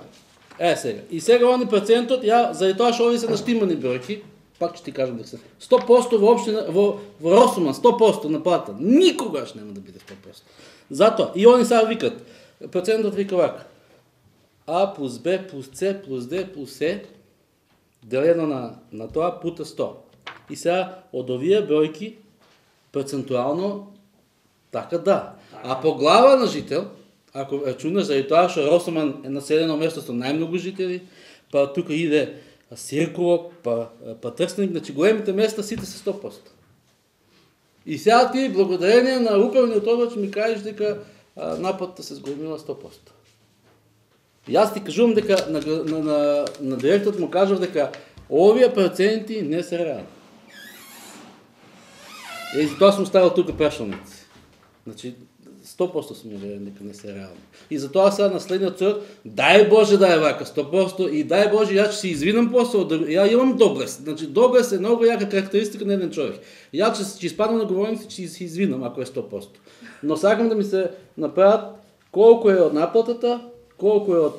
Сега. И сега они процентот, заради тоа што ови се наштимани бројки, пак ќе ти кажам дека се 100% во општина, во Росуман, 100% на плата. Никогаш нема да биде 100%. Затоа, и они сега викат, процентот вика вака. А плюс Б плюс С плюс Д плюс С делено на тоа пута 100. И сега од овие бројки процентуално така да. А по глава на жител, ако рачунаш заради тоа што Росуман е населено место со најмногу жители, па тука иде Сирково, па Трстеник, значи големите места сите се 100%. И сега ти благодарение на управниот одбор ми кажеш дека наплатата се зголемила 100%. И јас ти кажувам дека на директорот му кажав дека овие проценти не се реални. И затоа сум ставил тука прашалници. Значи 100% сум уверен дека не се реални. И затоа сега на следниот срок, дај Боже да е вака 100% и дај Боже јас ќе се извинам после, ја имам доблес. Значи доблес е многу јака карактеристика на еден човек. Јас ќе испадам на говорници, ќе се извинам ако е 100%. Но сакам да ми се направат Колку е од наплатата, колку е од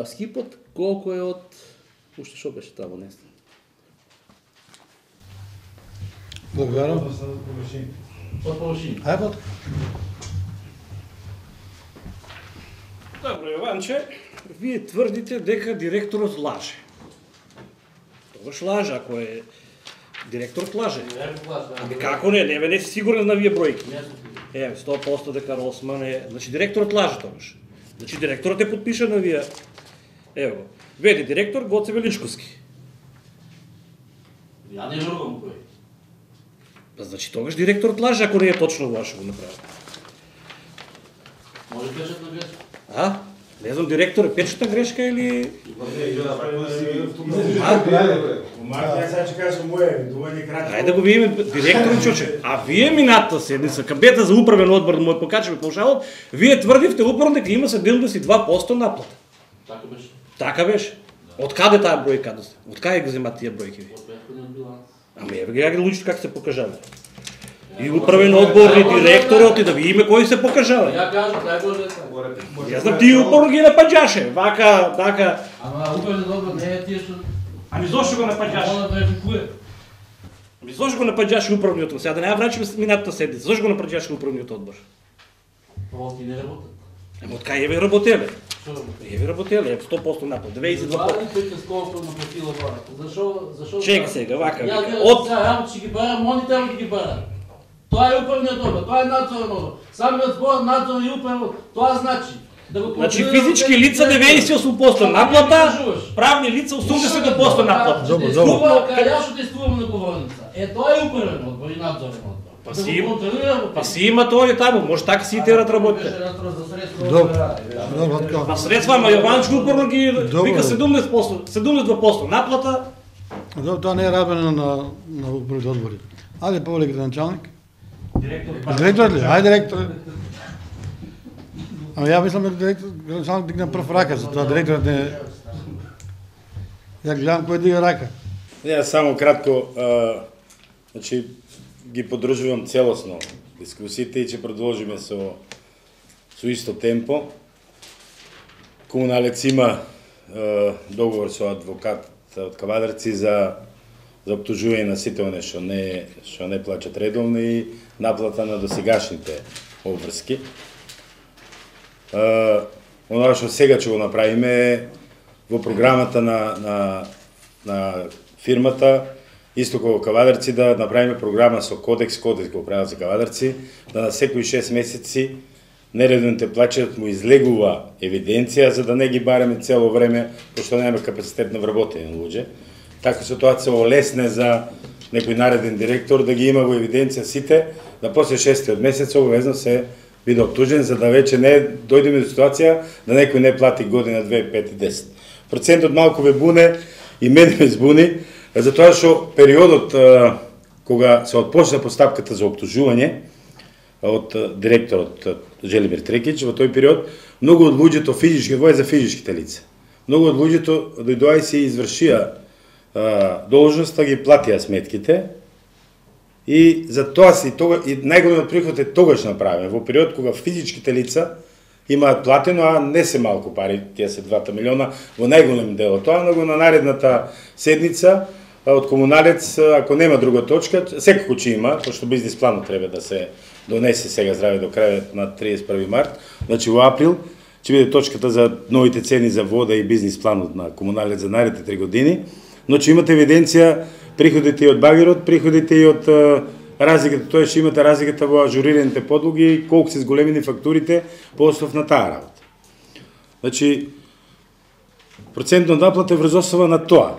скипот, колку е од... Уште што беше таму, не знам. Благодарам. Од површини. Ајбот. Добро, Јованче, вие тврдите дека директорот лаже. Тогаш лаже, ако е директорот лаже. Ами како не, не си сигурен на вие бројки. 100% дека Росман е... Значи директорот лаже тогаш. Значи директорот е подпишан на вие. Ево, веде директор Гоце Величковски. Ја не верувам кој. Па значи тогаш директорот лаже, ако не е точно ваше го направи. Може печатна грешка. А? Не знам, директор е печатна грешка или... Ајде да го видиме директорот чуче. А вие минатата седница, кабета за управен одбор да му ја покачаме паушалот, вие тврдивте управно дека има 72% наплата. Така беше. Така беше. Од каде таа бројка доста? Од каде ги земат тие бројки ви? Од претходниот биланс. Ами еве ги луѓето како се покажале. И управен одбор, и директорот, и да видиме кои се покажале. Ја кажу, тај Боже така. Јас знам тие упорно ги напаѓаше, вака, така. Ама управен одбор не е тие што... Ами зошто го напаѓаше? Она верификуе. Ами зошто го напаѓаше управниот одбор? Сега да не ја врачиме минатата седница. Зошто го напаѓаше управниот одбор? Овоки не работат. Ама од кај еве работеле? Што работат? Еве работеле, 100% наплат, 22%. Владите сколку наплатила владата. Зашо? Чека сега, вака. Ја Од работи ќе ги бара, монитор ќе ги бара. Тоа е управниот одбор, тоа е надзорен одбор. Самиот збор надзор и управен, тоа значи да го значи контролира физички лица 98% наплата, правни лица 80% наплата. Добро. Кај ја што тестуваме на говорница. Тоа е управен одбор и надзорен одбор. Па си има тој таму, може така си и терат работите. Добро. Па средства, ама Јованчко упорно ги вика 72% наплата. Добро, тоа не е работено на управните одбори. Ајде повеле градоначалник. Директор ли? Ајде директор. Ама ја мислам дека градоначалник дигна прв рака, затоа директорот не... Ја гледам кој дига рака. Ја само кратко, значи ги поддржувам целосно дискусиите и ќе продолжиме со исто темпо. Комуналец има договор со адвокат од Кавадарци за оптужување на сите оние што не плаќат редовно и наплата на досегашните обврски. Оно што сега ќе го направиме во програмата на фирмата, исто како Кавадарци, да направиме програма со кодекс го прават за Кавадарци, да на секои 6 месеци нередовните плаќања му излегува евиденција, за да не ги бараме цело време, пошто немаме капацитет на вработени луѓе. Така ситуација олесне за некој нареден директор да ги има во евиденција сите, да после 6-тиот месец обавезно се биде оптужен, за да веќе не дојдеме до ситуација да некој не плати година, 2, 5 и 10. Процентот малку ве буне и мене ме збуни, затоа што периодот кога се отпочна постапката за оптужување од директорот Желимир Трекич, во тој период многу од луѓето физички, тоа е за физичките лица. Многу од луѓето дојдоа и се извршија должноста, ги платија сметките и за тоа и најголемиот приход е тогаш направен во период кога физичките лица имаат платено, а не се малку пари, тие се 2 милиона во најголем дел од тоа, но на наредната седница од комуналец, ако нема друга точка, секако ќе има, пошто бизнис планот треба да се донесе сега здраве до крајот на 31 март, значи во април ќе биде точката за новите цени за вода и бизнис планот на комуналец за наредните 3 години, но ќе имате евиденција приходите и од багерот, приходите и од разликата, тоа ќе имате разликата во ажурираните подлоги и колку се зголемени фактурите по основ на таа работа. Значи, процентот наплата е врз основа на тоа.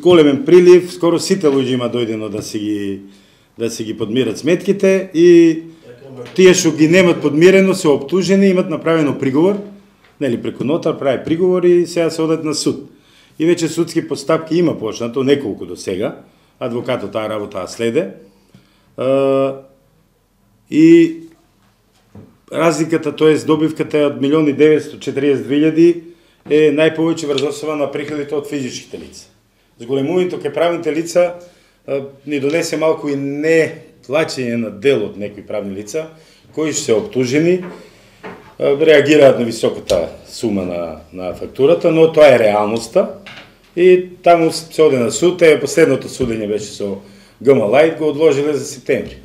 Големен прилив, скоро сите луѓе има дојдено да си ги подмират сметките и тие што ги немат подмирено се оптужени, имат направено приговор, нели преку нотар прави приговор и сега се одат на суд. И веќе судски постапки има почнато, неколку до сега, адвокатот таа работа следе. И разликата, тоест добивката од 1.942.000 е најповеќе врз основа на приходите од физичките лица. Зголемувањето кај правните лица ни донесе малку и не плаќање на дел од некои правни лица, кои се оптужени, реагираат на високата сума на фактурата, но тоа е реалноста и таму се оде на суд, последното судење беше со ГМ Лајт, го одложиле за септември.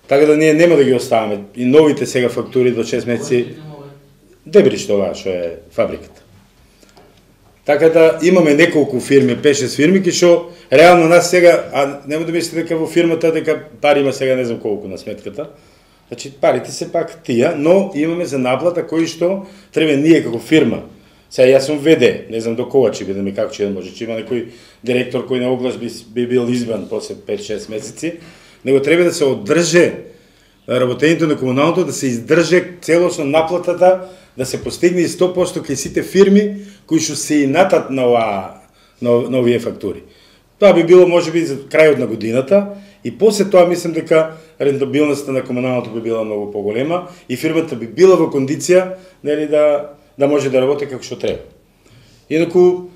Така да ние нема да ги оставаме и новите сега фактури до 6 месеци. Дебриш тоа што е фабриката. Така да имаме неколку фирми, 5-6 фирми, што реално нас сега, а нема да мислите дека во фирмата дека пари има сега не знам колку на сметката. Значи парите се пак тие, но имаме за наплата кои што треба ние како фирма. Сега јас сум ВД, не знам до кога ќе бидеме, како ќе може, ќе има некој директор кој на оглас би бил избран после 5-6 месеци, него треба да се одрже работењето на комуналното, да се издрже целосно наплатата, да се постигне 100% кај сите фирми кои што се инатат на овие фактури. Тоа би било можеби за крајот на годината и после тоа мислам дека рентабилноста на комуналното би била многу поголема и фирмата би била во кондиција нели да може да работи како што треба. Инаку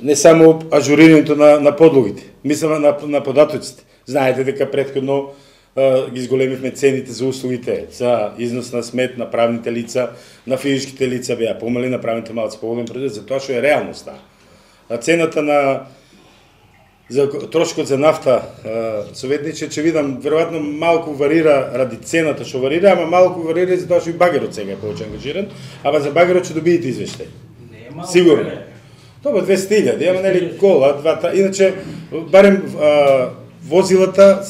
не само ажурирањето на подлогите, мислам на податоците. Знаете дека претходно ги изголемивме цените за услугите, за износ на смет на правните лица, на физичките лица беа помали, на правните малци поголем предвид за тоа што е реалноста. Цената за трошокот за нафта, советниче, че видам, веројатно малку варира ради цената што варира, ама малку варира за тоа што и багерот сега е повеќе ангажиран, ама за багерот ќе добиете извештај. Сигурно. Тоа 200.000, ама нели кола, иначе барем возилата,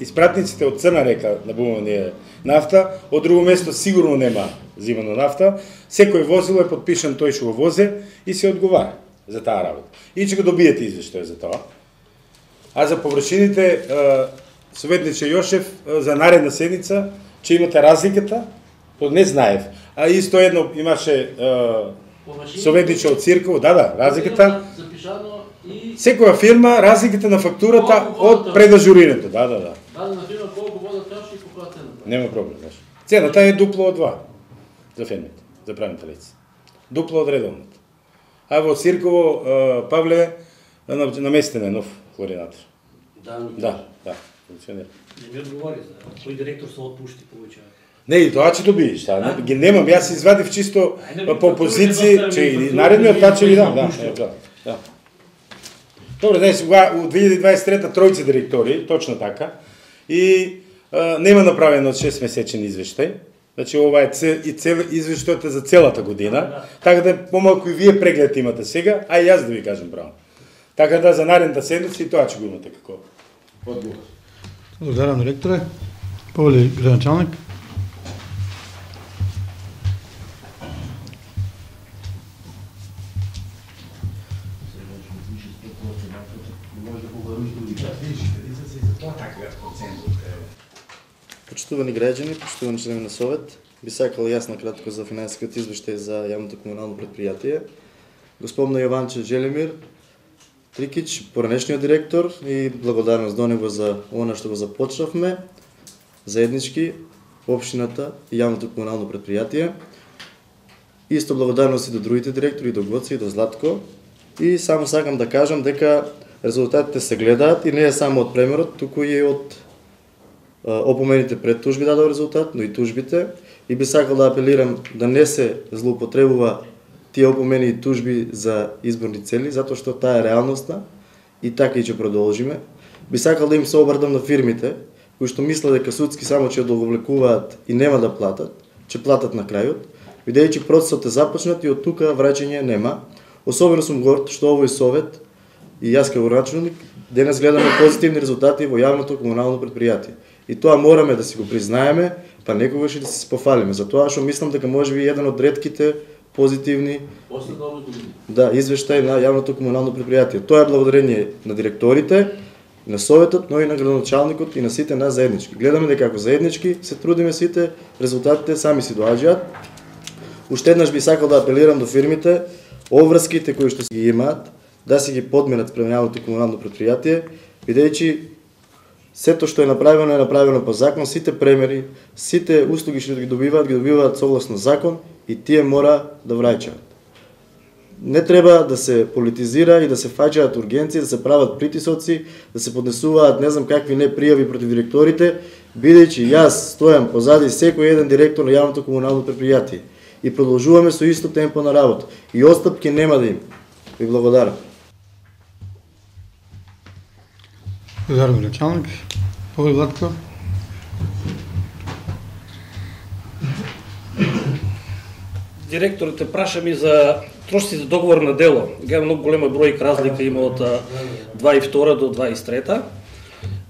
испратниците од Црна река набуваме нафта, од друго место сигурно нема зимано нафта, секој возило е подпишан тој што го возе и се одговара за таа работа. И ќе го добиете извештај за тоа. А за површините, советниче Јошев, за наредна седница, ќе имате разликата, не знаев. А исто едно имаше советниче од Цирков, да, разликата. Секоја фирма, разликата на фактурата од предажурирането, да. Дадена фирма колку вода троши и по која цена? Нема проблем, знаеш. Цената е дупло од 2 за фирмите, за правните лица. Дупло од редовната. А во Цирково, Павле, наместен е нов хлоринатор. Да, функционира. Не ми одговори за кој директор се отпушти повеќе. Не, и тоа ќе добиеш, ги немам, јас извадив чисто по позиции, че и наредниот таа ќе ви дам, да. Добре, знаеш, у 2023 тројца директори, точно така, и нема направено 6-месечен извештај. Значи, ова е извештајот за целата година, така да помалку и вие преглед имате сега, а и јас да ви кажам право. Така да за наредната седница и тоа ќе го имате како одговор. Благодарам, директоре. Павле, градоначалник. Почитувани граѓани, почитувани членови на Совет, би сакал јас на кратко за финансискиот извештај за јавното комунално предпријатие. Господин Јованче Желимир Трикич, поранешниот директор, и благодарност до него за она што го започнавме, заеднички, општината и јавното комунално предпријатие. Исто благодарност и до другите директори, до Гоце и до Златко. И само сакам да кажам дека резултатите се гледаат и не е само од премерот, туку и од опомените пред тужби дадоа резултат, но и тужбите. И би сакал да апелирам да не се злоупотребува тие опомени и тужби за изборни цели, затоа што таа е реалноста и така и ќе продолжиме. Би сакал да им се обрдам на фирмите, кои што мислат дека судски само ќе одовлекуваат и нема да платат, ќе платат на крајот, бидејќи процесот е започнат и од тука враќање нема. Особено сум горд што овој совет и јас како началник денес гледаме позитивни резултати во јавното комунално предпријатие. И тоа мораме да си го признаеме, па некогаш и да се пофалиме. Затоа што мислам дека можеби еден од ретките позитивни извештаи на јавното комунално предпријатие. Тоа е благодарение на директорите, на советот, но и на градоначалникот и на сите нас заеднички. Гледаме дека ако заеднички се трудиме сите, резултатите сами си доаѓаат. Уште еднаш би сакал да апелирам до фирмите, обврските кои што ги имаат, да си ги подменат спрема јавното комунално предпријатие, бидејќи сето што е направено по закон, сите премери, сите услуги што ги добиваат согласно закон и тие мора да враќаат. Не треба да се политизира и да се фаќаат ургенции, да се прават притисоци, да се поднесуваат не знам какви не пријави против директорите, бидејќи јас стојам позади секој еден директор на јавното комунално предпријатие и продолжуваме со исто темпо на работа и отстапки нема да има. Ви благодарам. Благодарам, началник. Повеќе Владко. Директорите праша ми за трошци за договор на дело. Га многу голема бројка разлика има од 22 до 23.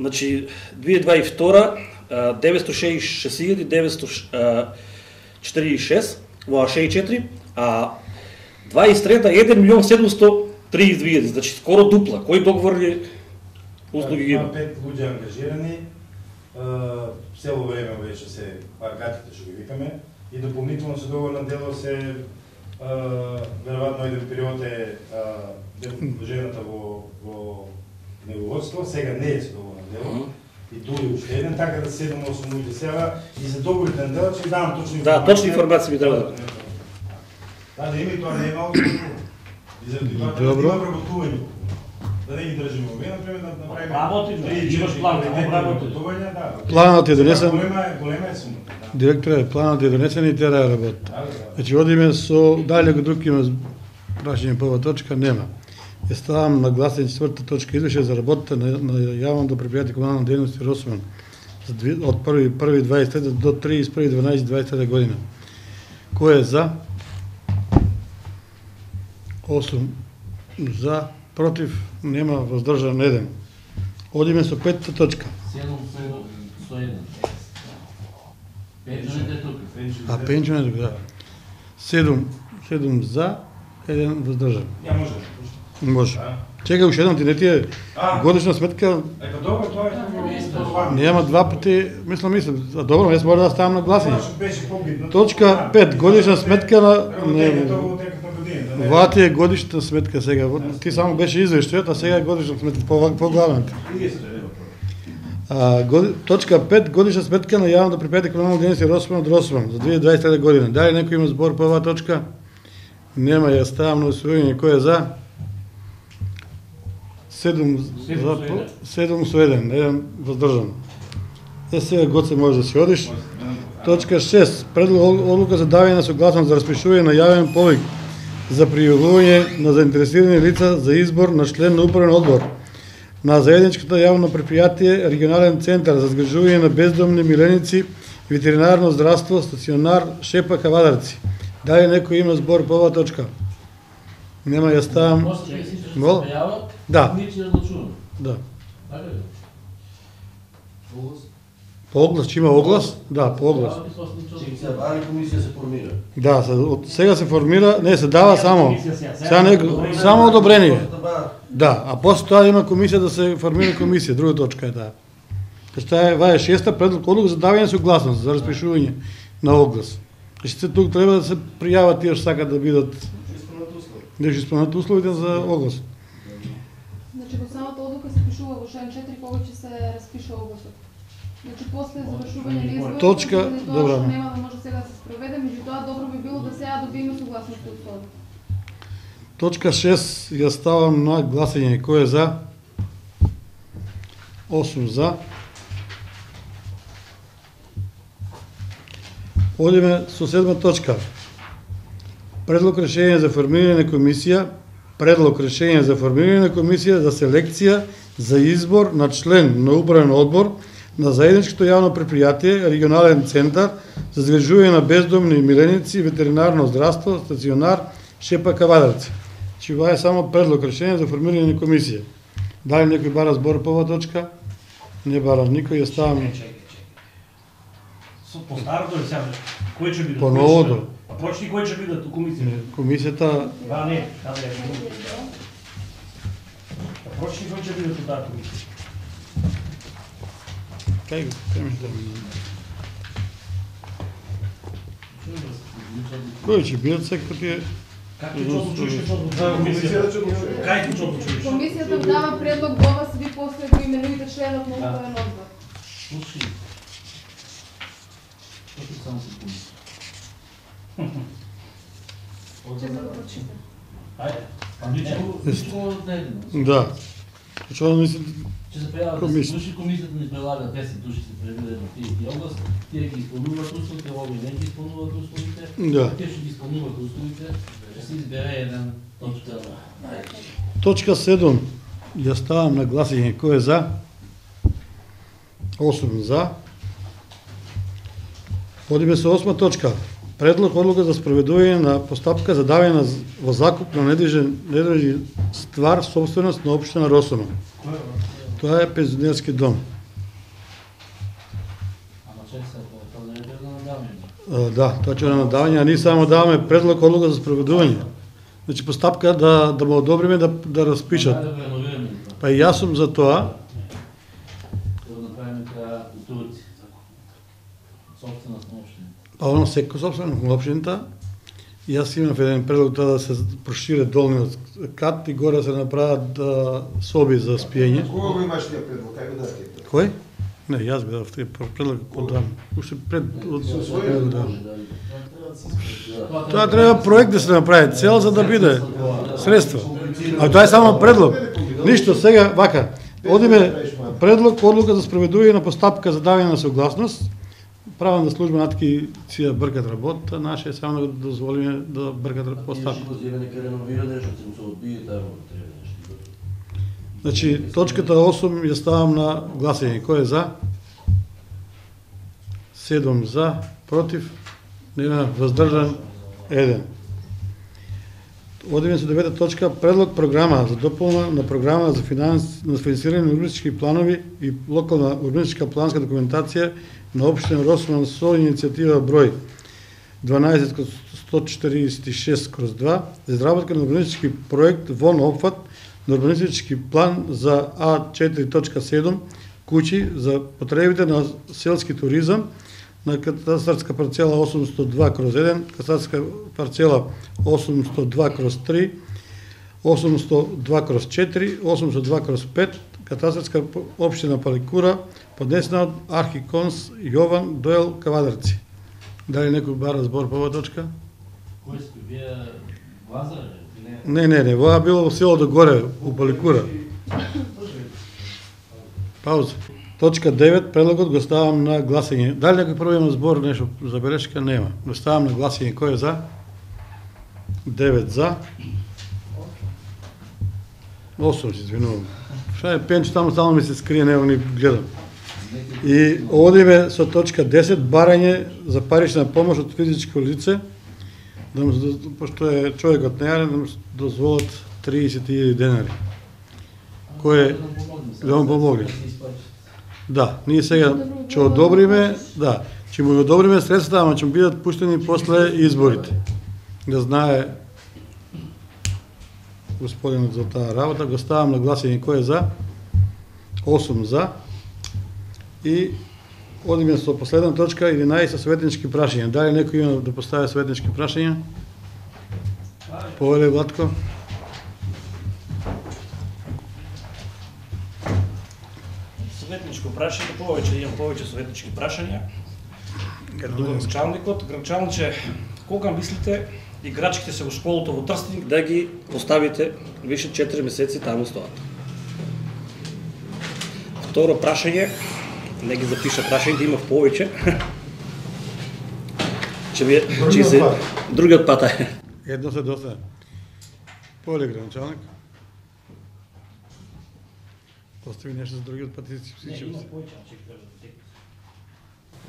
Значи 2022 966.946 во 64, а 23 1.732.000, значи скоро дупла. Кој договорни услуги ги има? 5 луѓе ангажирани, цело време беше се паркатите што ги викаме и дополнително се договор на дело се веројатно еден период е жената во неговодство, сега не е се договор на дело. И дури уште еден, така да 7-8 луѓе сега и за договорите на дело ќе ви давам точни информации. Да, точни информации ми треба. Да, да има и тоа не е малку. И заради тоа да има вработување. Да не ги држиме овие, например, да направиме... Имаш план, вработување, да. Планот е донесен. Голема е сума. Директоре, планот е донесен и тера работа. Значи, одиме со далеко друг има прашање по ова точка, нема. Ја ставам на гласен 4-та точка извеше за работата на јавното предпријатие комунална дејност Росман од 1.1.23 до 31.12.23 година. Кој е за? 8 за, против, нема, воздржан 1. Одиме со 5-та точка. 7-101. Пенчунет е тука. А пенчунет е тука, да. 7 за, 1 воздржан. Ја може. Може. Чекај уште едном, ти не ти е годишна сметка. Ето добро, тоа е тоа. Нема два пати, мислам, добро, јас мора да ставам на гласање. Беше побитно. Точка 5, годишна сметка на ова ти е годишната сметка сега. Ти само беше извештајот, а сега е годишна сметка по главната. Точка 5, годишна сметка на јавното предпријатие комунална дејност Росман од Росман за 2023 година. Дали некој има збор по оваа точка? Нема, ја ставам на усвојање. Кој е за? 7 со 1, 1 воздржан. Сега Гоце може да си одиш. Точка 6. Предлог одлука за давање на согласност за распишување на јавен повик за пријавување на заинтересирани лица за избор на член на управен одбор на заедничкото јавно предпријатие регионален центар за згрижување на бездомни миленици и ветеринарно здравство стационар Шепа Кавадарци. Дали некој има збор по оваа точка? Нема, ја ставам. Мол? Да. Да. По оглас, че има оглас? Да, по оглас. Комисија се формира. Да, од сега се формира, не се дава само. Сега не, само одобрение. Да, а после тоа има комисија да се формира комисија, друга точка е таа. Тоа е 6-та предлог одлука за давање согласност за распишување на оглас. Значи тук треба да се пријават тие што сакат да бидат да исполнат условите за оглас. Значи во самата одлука се пишува во член 4 кога ќе се распише огласот. Значи после завршување на изборот, точка, добра. Нема да може сега да се спроведе, меѓутоа добро би било да сега добиеме согласност од тоа. Точка 6 ја ставам на гласање. Кој е за? 8 за. Одиме со 7 точка. Предлог решение за формирање на комисија, предлог решение за формирање на комисија за селекција за избор на член на управен одбор на заедничкото јавно предпријатие регионален центар за згрижување на бездомни миленици и ветеринарно здравство стационар Шепа Кавадарци. Че ова е само предлог решение за формирање на комисија. Дали некој бара збор по оваа точка? Не бара никој, ја ставам. По старото ли сега? Кој ќе биде? По новото. А почни кој ќе биде комисија? Комисијата... Да, не, да, не. А почни кој ќе биде таа комисија? Кај го, темеш да ми... Кој ќе бидат секој тие... Как ќе одлучиш комисијата? Кај ќе одлучиш? Комисијата дава предлог до вас, ви после го именуите членот на управен одбор. Слушай. Што само се комисија? Ќе се го прочитам. Ајде. Да. Зашто не се Че се пријават 10 души, комисијата ни прелага 10 души се предвидено тие области, тие ги исполнуваат условите, овој не ги исполнуваат условите, тие што ги исполнуваат условите, ќе се избере еден точка. Точка 7 ја ставам на гласање. Кој е за? 8 за. Одиме со 8 точка. Предлог одлука за спроведување на постапка за давање во закуп на недвижна ствар собственост на општина Росома. Тоа е пензионерски дом. Ама чек се, тоа не е на надавање. Да, тоа ќе е на надавање, а ние само даваме предлог одлука за спроведување. Значи постапка да му одобриме да разпишат. Па и јас сум за тоа. Да направиме така у Турци. Собственост на општината. Па оно секој собственост на општината. Јас имам еден предлог тоа да се прошире долниот кат и горе се направат соби за спиење. Кога го имаш тие предлог? Кај го дадете? Кој? Не, јас бедав тој предлог подам. Уште пред Тоа треба проект да се направи, цел за да биде средства. А тоа е само предлог. Ништо сега вака. Одиме предлог одлука за спроведување на постапка за давање на согласност. Правна служба натки си ја бркат работа, наше е само да дозволиме да бркат постапка. Значи, точката 8 ја ставам на гласање. Кој е за? 7 за, против, нема, воздржан, 1. Одиме со 9 точка, предлог програма за дополна на програма за финансирање на урбанистички планови и локална урбанистичка планска документација на општина Росман со иницијатива број 12/146/2 за изработка на урбанистички проект во опфат на урбанистички план за А4.7 куќи за потребите на селски туризам на катастарска парцела 802/1, катастарска парцела 802/3, 802/4, 802/5, катастарска општина Паликура, поднесена од архиконс Јован Доел Кавадарци. Дали некој бара збор по оваа точка? Кој сте вие Лазар? Не, воа било во селото горе, у Паликура. Пауза. Точка 9, предлогот го ставам на гласање. Дали некој прво има збор, нешто забелешка? Нема. Го ставам на гласање. Кој е за? 9 за. 8, се извинувам. Ша е пенч, таму само ми се скрие, него ни гледам. И одиме со точка 10, барање за парична помош од физичко лице, пошто е човекот нејарен, да му дозволат 30.000 денари. Кој е да му помогне. Да, ние сега ќе одобриме, ќе му одобриме средства, ама ќе му бидат пуштени после изборите. Да знае господинот за таа работа, го ставам на гласање. Кој е за? 8 за. И одиме со последна точка, 11 советнички прашања. Дали некој има да постави советнички прашања? Повеле Владко. Советничко прашање, имам повеќе советнички прашања. Градчалниче, кога мислите играчките се во школото во Трстеник да ги поставите више 4 месеци таму стоат? Второ прашање, не ги запиша прашањето, има повеќе. Че се другиот пат е. Едно се доста. Поле гранчалник. Постави нешто за другиот пат и сичам се.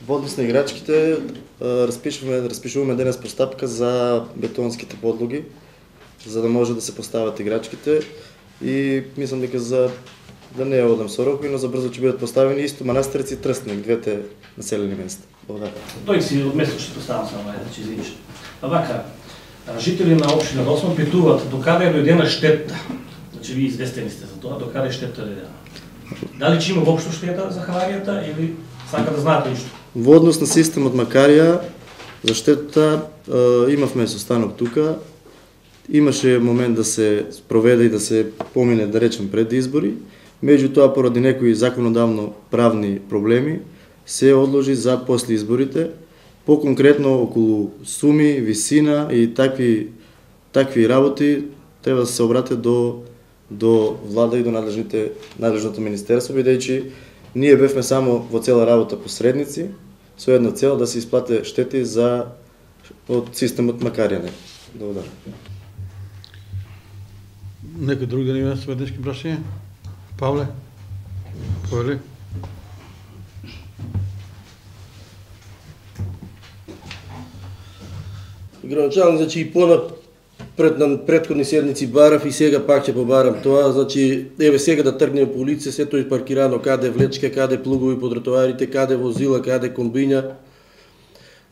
Во однос на играчките распишуваме денес постапка за бетонските подлоги, за да може да се постават играчките и мислам дека да не одам со рокови, но за брзо ќе бидат поставени исто Манастирец и Трстеник, двете населени места. Благодарам. Тој си од место што поставам само че извиниш. Вака, жители на општина Росман питуваат докаде е дојдена штета. Значи ви известени сте за тоа, докаде штета е дојдена. Дали ќе има воопшто штета за хаваријата или сака да знаете ништо? Во однос на системот Макарија, за штетата имавме состанок тука. Имаше момент да се проведе и да се помине, да речем, пред избори. Меѓутоа, поради некои законодавно правни проблеми, се одложи за после изборите. По-конкретно, околу суми, висина и такви работи треба да се обратят до до влада и до надлежното министерство, бидејќи ние бевме само во цела работа посредници со една цел да се исплате штети од системот Макарија. Благодарам. Некој друг да има советнички прашања? Павле? Повели? Градоначалник, значи и на претходни седмици барав и сега пак ќе побарам тоа, значи еве сега да тргнеме по улице, сето е паркирано, каде влечка, каде плугови по тротоарите, каде возила, каде комбиња,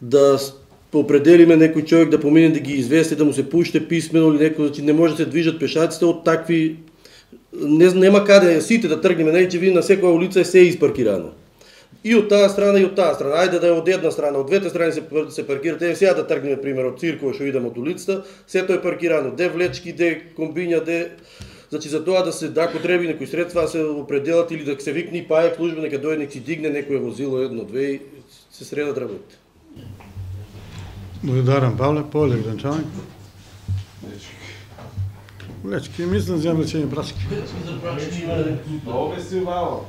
да определиме некој човек да помине да ги извести, да му се пуште писмено или некој, значи не може да се движат пешаците од такви, нема каде сите да тргнеме, не че ви на секоја улица е се испаркирано. И од таа страна и од таа страна. Ајде да е од една страна, од двете страни се паркират. Еве сега да тргнеме пример од циркова што идеме од улицата, сето е паркирано. Де влечки, де комбиња, де значи за тоа да се ако треба некои средства да се определат или да се викне паек служба нека дојде нека си дигне некое возило едно, две и се средат работите. Благодарам, Павле. Поле, гранчаник. Влечки, мислам за млечени прашки. Ове си увало.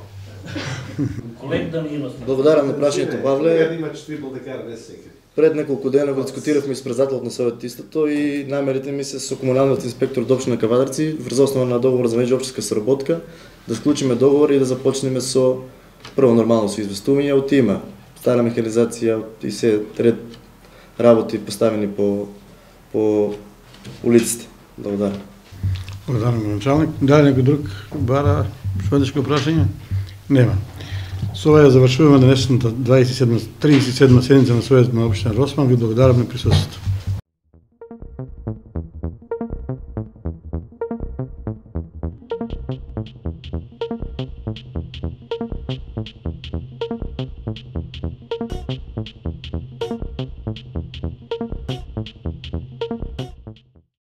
Колег да ми има. Благодарам на прашањето, Павле. Има четвртол да кара, не секој. Пред неколку дена го дискутиравме с председателот на Совет истото и намерите ми се со комуналниот инспектор до општина Кавадарци врз основа на договор за меѓуопштинска соработка да склучиме договор и да започнеме со прво нормално со известување од има стара механизација и се ред работи поставени по улиците. Благодарам. Благодарам, началник. Дали некој друг бара шведешко прашање? Нема. Со ова ја завршуваме денешната 37 седница на Советот на општина Росман. Ви благодарам на присуството.